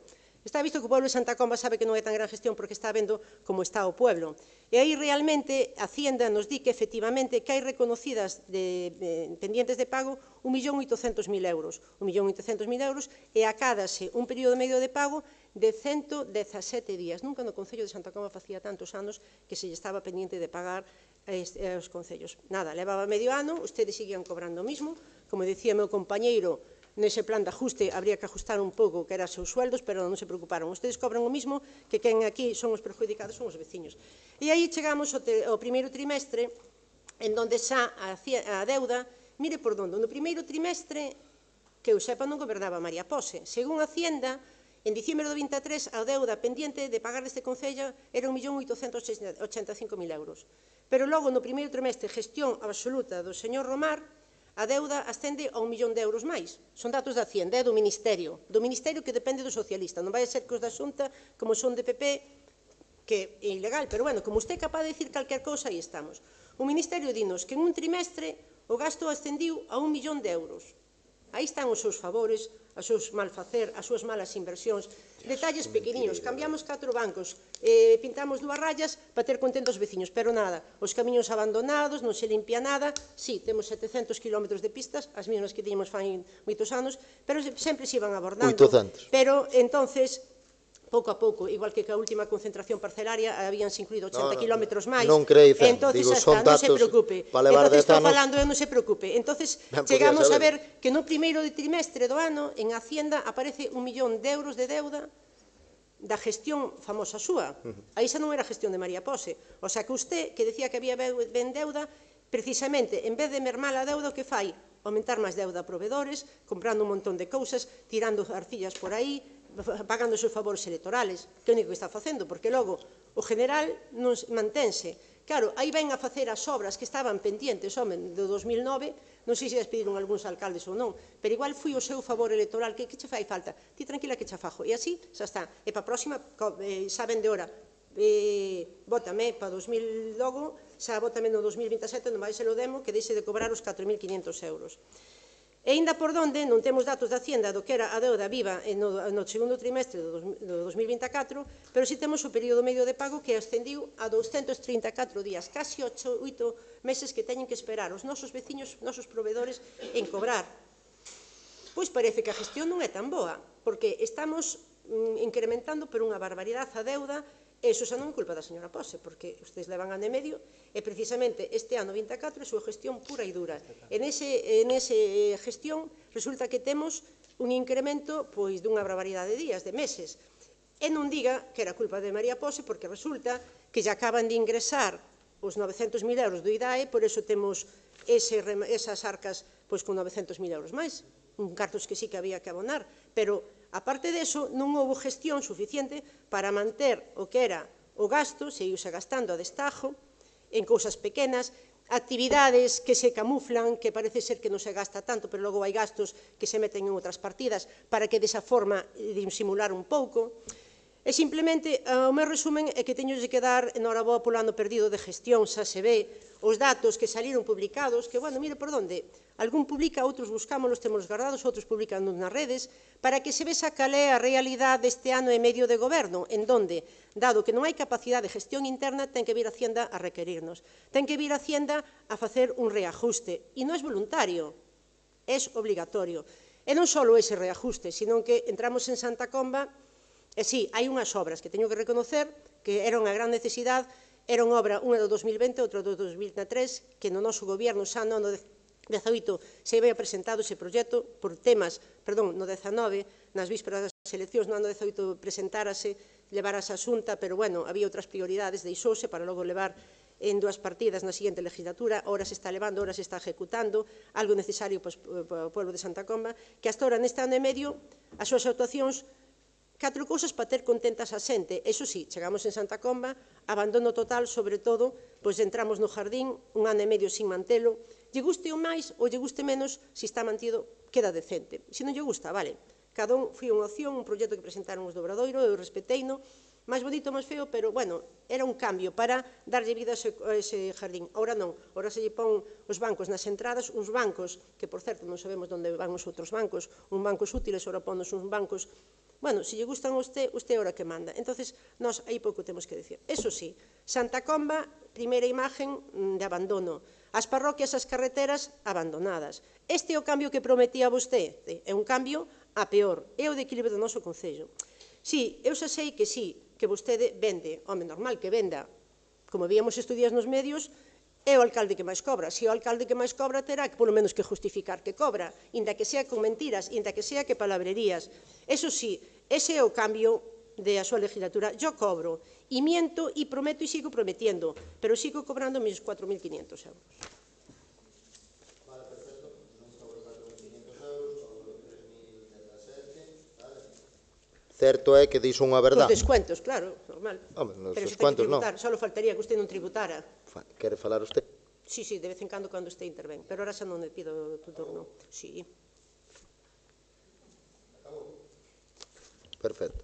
Speaker 2: Está visto que o pueblo de Santa Comba sabe que non é tan gran gestión porque está vendo como está o pueblo. E aí realmente a Hacienda nos di que efectivamente que hai reconocidas pendientes de pago 1.800.000 euros. 1.800.000 euros e acádase un período medio de pago de 117 días. Nunca no Concello de Santa Comba facía tantos anos que se lle estaba pendiente de pagar aos concellos. Nada, levaba medio ano, ustedes seguían cobrando o mismo. Como dicía meu compañeiro, nese plan de ajuste habría que ajustar un pouco que eran os seus sueldos, pero non se preocuparon. Ustedes cobran o mismo que quen aquí son os perjudicados, son os veciños. E aí chegamos ao primeiro trimestre, en donde xa a deuda, mire por donde, no primeiro trimestre, que eu sepa non gobernaba María Pose. Según a Hacienda, en diciembre do 23, a deuda pendiente de pagar deste Concello era 1.885.000 euros. Pero logo, no primeiro trimestre, gestión absoluta do señor Romar, a deuda ascende a 1 millón de euros máis. Son datos da Hacienda, do Ministerio que depende do socialista. Non vai a ser que os da Xunta, como son de PP, que é ilegal, pero, bueno, como usted é capaz de dicir calquer cousa, aí estamos. O Ministerio dinos que en un trimestre o gasto ascendiu a 1 millón de euros. Aí están os seus favores, os seus malfacer, as súas malas inversións, detalles pequeninos, cambiamos 4 bancos, pintamos 2 rayas para ter contentos os veciños, pero nada, os camiños abandonados, non se limpia nada, sí, temos 700 kilómetros de pistas, as mesmas que tiñamos fai moitos anos, pero sempre se iban abordando.
Speaker 1: 800.
Speaker 2: Pero, entonces, pouco a pouco, igual que a última concentración parcelaria, habíanse incluído 80 kilómetros máis.
Speaker 1: Non creí, digo, son datos
Speaker 2: non se preocupe.
Speaker 1: para levar 10 anos.
Speaker 2: Estou falando, non se preocupe. Entonces, chegamos a ver que no primeiro trimestre do ano, en Hacienda, aparece 1 millón de euros de deuda da gestión famosa súa. Aí xa non era gestión de María Pose. O sea, que usted, que decía que había ben deuda, precisamente, en vez de mermar a deuda, o que fai? Aumentar máis deuda a proveedores, comprando un montón de cousas, tirando arcillas por aí, pagando os seus favores electorales, que é o único que está facendo, porque logo o general non mantense. Claro, aí ven a facer as obras que estaban pendientes, home, do 2009, non sei se despediron algúns alcaldes ou non, pero igual foi o seu favor electoral, que che fai falta? Ti tranquila que che fajo. E así, xa está. E para a próxima, saben de hora, vótame para 2000 logo, xa vótame no 2027, non vai ser o demo, que deixe de cobrar os 4.500 euros. E ainda por donde non temos datos da Hacienda do que era a deuda viva no segundo trimestre do 2024, pero si temos o período medio de pago que ascendiu a 234 días, casi 8 meses que teñen que esperar os nosos veciños, nosos proveedores, en cobrar. Pois parece que a gestión non é tan boa, porque estamos incrementando por unha barbaridade a deuda. Eso xa non é culpa da señora Pose, porque ustedes levan ano e medio e precisamente este ano 24 é a súa gestión pura e dura. En ese gestión resulta que temos un incremento dunha barbaridade de días, de meses. E non diga que era culpa de María Pose, porque resulta que ya acaban de ingresar os 900.000 euros do IDAE, por eso temos esas arcas con 900.000 euros máis, cartos que sí que había que abonar, pero aparte deso, non houve gestión suficiente para manter o que era o gasto, seguiuse gastando a destajo, en cousas pequenas, actividades que se camuflan, que parece ser que non se gasta tanto, pero logo hai gastos que se meten en outras partidas para que desa forma simular un pouco. E simplemente, o meu resumen é que teño que dar enhoraboa polo ano perdido de gestión, xa se ve, os datos que saliron publicados, que, bueno, mire por onde, algún publica, outros buscámolos, temos guardados, outros publican nas redes, para que se vexa cal é a realidade deste ano e medio de goberno, en donde, dado que non hai capacidade de gestión interna, ten que vir a Hacienda a requerirnos. Ten que vir a Hacienda a facer un reajuste, e non é voluntario, é obligatorio. E non só ese reajuste, sino que entramos en Santa Comba. E sí, hai unhas obras que teño que reconocer que era unha gran necesidade, era unha obra, unha do 2020, outra do 2023, que no noso goberno xa no ano 18 se había presentado ese proxecto por temas, no 19, nas vísperas das eleccións, no ano 18 presentárase, levarase a Xunta, pero, bueno, había outras prioridades, deixouse para logo levar en 2 partidas na seguinte legislatura, ora se está levando, ora se está ejecutando, algo necesario para o pueblo de Santa Comba, que hasta ora neste ano e medio, as súas actuacións 4 cousas para ter contentas a xente. Eso sí, chegamos en Santa Comba, abandono total, sobre todo, pois entramos no jardín, un ano e medio sin mantelo, lle guste o máis ou lle guste menos, se está mantido, queda decente. Se non lle gusta, vale. Cada un foi unha opción, un proxecto que presentaron os do Obradoiro, eu respeteino, máis bonito, máis feo, pero, bueno, era un cambio para darlle vida a ese jardín. Ora non, ora se lle pon os bancos nas entradas, uns bancos, que, por certo, non sabemos onde van os outros bancos, un bancos útiles, ora ponnos uns bancos Bueno, se lle gustan a usted é hora que manda. Entonces, nós aí pouco temos que decir. Eso sí, Santa Comba, primeira imagen de abandono. As parroquias, as carreteras, abandonadas. Este é o cambio que prometía vostede. É un cambio a peor. É o de equilibrio do noso Concello. Sí, eu xa sei que sí, que vostede vende. Home, normal que venda. Como víamos estes días nos medios, é o alcalde que máis cobra. Se o alcalde que máis cobra terá que, polo menos, que justificar que cobra, inda que sea con mentiras, inda que sea que palabrerías. Eso sí, ese é o cambio da súa legislatura. Yo cobro, e miento, e prometo, e sigo prometiendo, pero sigo cobrando mis 4.500 euros.
Speaker 1: Vale, perfecto. Non cobro 4.500 euros, cobro 3.017, vale? Certo é que dixo unha verdade.
Speaker 2: Os descuentos, claro, normal.
Speaker 1: Home, nos
Speaker 2: pero
Speaker 1: descuentos non.
Speaker 2: Só faltaría que usted non tributara.
Speaker 1: Quere falar usted?
Speaker 2: Sí, sí, de vez en cando usted intervén, pero ahora xa non me pido tu turno. Sí.
Speaker 1: Perfecto.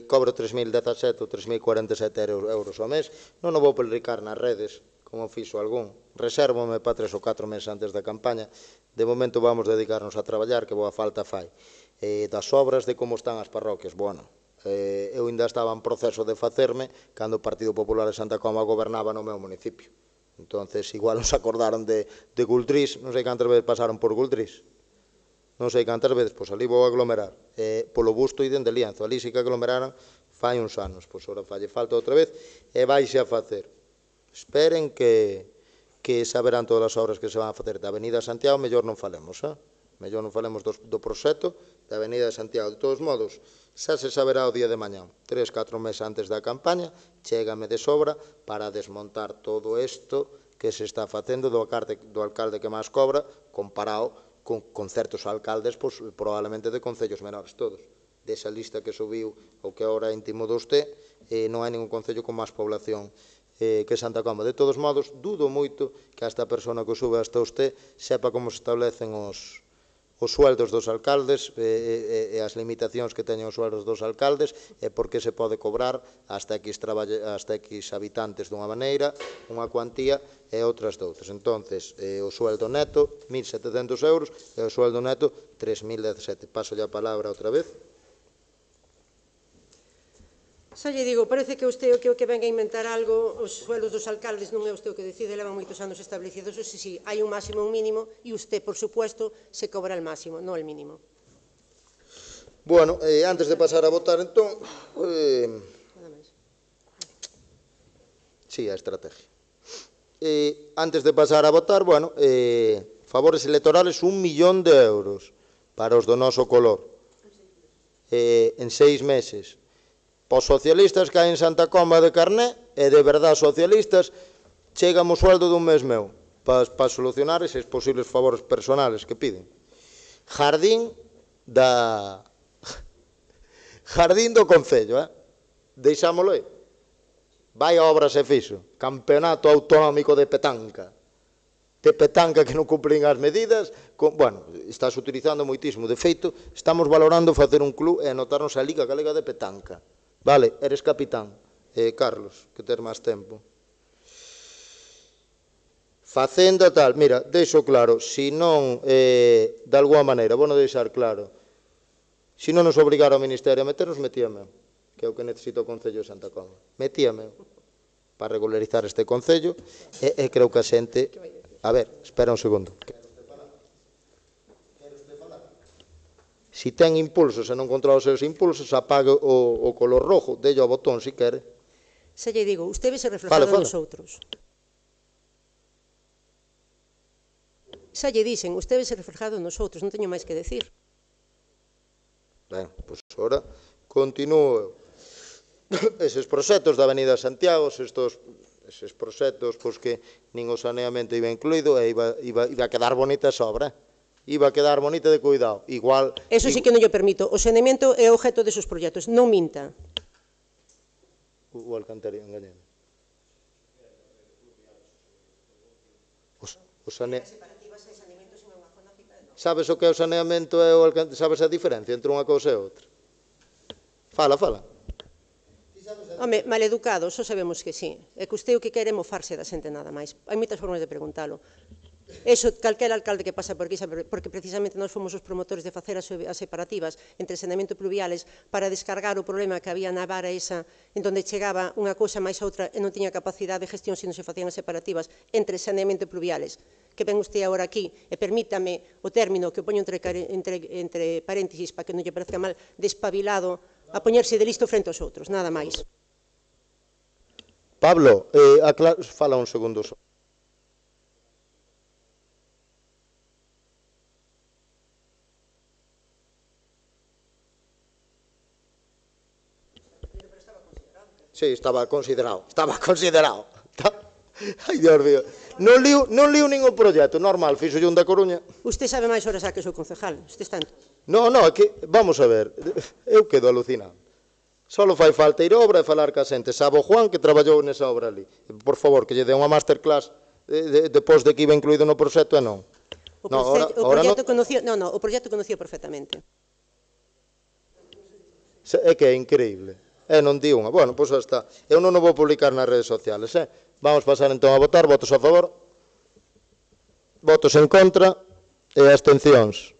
Speaker 1: Cobro 3.017 ou 3.047 euros ao mes. Non o vou publicar nas redes, como fixo algún. Resérvome para 3 ou 4 meses antes da campaña. De momento vamos dedicarnos a traballar, que boa falta fai. Das obras de como están as parroquias, bueno, eu ainda estaba en proceso de facerme cando o Partido Popular de Santa Comba gobernaba no meu municipio. Entonces, igual nos acordaron de Gultrís, non sei cantas veces pasaron por Gultrís. Non sei cantas veces, pois ali vou aglomerar. Polo Busto e dende Lienzo, ali sí que aglomeraran fai uns anos, pois ora falle falta outra vez e vaise a facer. Esperen que saberán todas as obras que se van a facer da Avenida Santiago, mellor non falemos, mellor non falemos do proxecto da Avenida de Santiago. De todos modos, xa se saberá o día de mañán, 3-4 meses antes da campaña, chégame de sobra para desmontar todo isto que se está facendo do alcalde que máis cobra, comparado con certos alcaldes, pois, probablemente de concellos menores todos. Desa lista que subiu, o que agora é íntimo de usted, non hai ningún concello con máis población que Santa Comba. De todos modos, dudo moito que esta persona que sube hasta usted sepa como se establecen os sueldos dos alcaldes e as limitacións que teñen os sueldos dos alcaldes e por que se pode cobrar hasta X habitantes dunha maneira, unha cuantía e outras doutras. Entonces, o sueldo neto, 1.700 euros, e o sueldo neto, 3.017. Paso a palabra outra vez.
Speaker 2: Xa lle digo, parece que usted o que ven a inventar algo, os sueldos dos alcaldes non é usted o que decide, levan moitos anos establecidos, e si, hai un máximo e un mínimo, e usted, por supuesto, se cobra el máximo, non el mínimo.
Speaker 1: Bueno, antes de pasar a votar, entón, sí, a estrategia. Antes de pasar a votar, bueno, favores electorales, 1 millón de euros para os do noso color, en 6 meses. Os socialistas que hai en Santa Comba de carné, e de verdade socialistas, chegan o sueldo dun mes meu para solucionar eses posibles favores personales que piden. Jardín do Concello, deixámolo aí. Vai a obra se fixo. Campeonato autonómico de petanca. De petanca que non cumplen as medidas. Bueno, estás utilizando moitísimo. De feito, estamos valorando facer un club e anotarnos a Liga Galega de Petanca. Vale, eres capitán, Carlos, que ter máis tempo. Facenda tal, mira, deixo claro, se non, de alguma maneira, vou non deixar claro, se non nos obligara o Ministerio a meternos, metíame, que é o que necesita o Concello de Santa Comba. Metíame para regularizar este Concello, e creo que a xente... A ver, espera un segundo. Si ten impulsos e non controla os seus impulsos, apague o color rojo, dello ao botón, se quere.
Speaker 2: Xa lle digo, usted vese reflejado nos outros. Xa lle dixen, usted vese reflejado nos outros, non teño máis que decir.
Speaker 1: Ben, pois agora continúo. Eses proxectos da Avenida Santiago, eses proxectos que nin o saneamento iba incluído e iba a quedar bonita esa obra, iba a quedar bonita de cuidado. Igual...
Speaker 2: Eso sí que non lle permito. O saneamento é o objeto desos proxectos. Non minta.
Speaker 1: O alcantarillado, engañado. O saneamento... Sabes o que é o saneamento e o alcantarillado? Sabes a diferencia entre unha cousa e outra? Fala.
Speaker 2: Home, maleducado, só sabemos que sí. É que usted o que quere mofarse da xente nada máis. Hai moitas formas de preguntalo. Eso, calquera alcalde que pasa por aquí sabe, porque precisamente nós fomos os promotores de facer as separativas entre saneamento e pluviales para descargar o problema que había na vara esa, en donde chegaba unha cousa máis outra e non tiña capacidade de gestión se non se facían as separativas entre saneamento e pluviales. Que ven usted agora aquí, e permítame o término que o poño entre paréntesis para que non lle parezca mal, despabilado, a poñerse de listo frente aos outros, nada máis.
Speaker 1: Pablo, fala un segundo só. Sí, estaba considerado. Ai, Dios mío. Non liu nin o proxecto, normal, fixo un da Coruña.
Speaker 2: Usted sabe máis horas a que sou concejal, usted está en...
Speaker 1: No, é que, vamos a ver, eu quedo alucinado. Só fai falta ir a obra e falar ca xente. Sabe o Juan que traballou nesa obra ali. Por favor, que lle dé unha masterclass depois de que iba incluído no proxecto e non.
Speaker 2: O proxecto conocía perfectamente.
Speaker 1: É que é increíble. Non di unha. Bueno, pois xa está. Eu non o vou publicar nas redes sociales. Vamos pasar entón a votar. Votos a favor. Votos en contra e abstencións.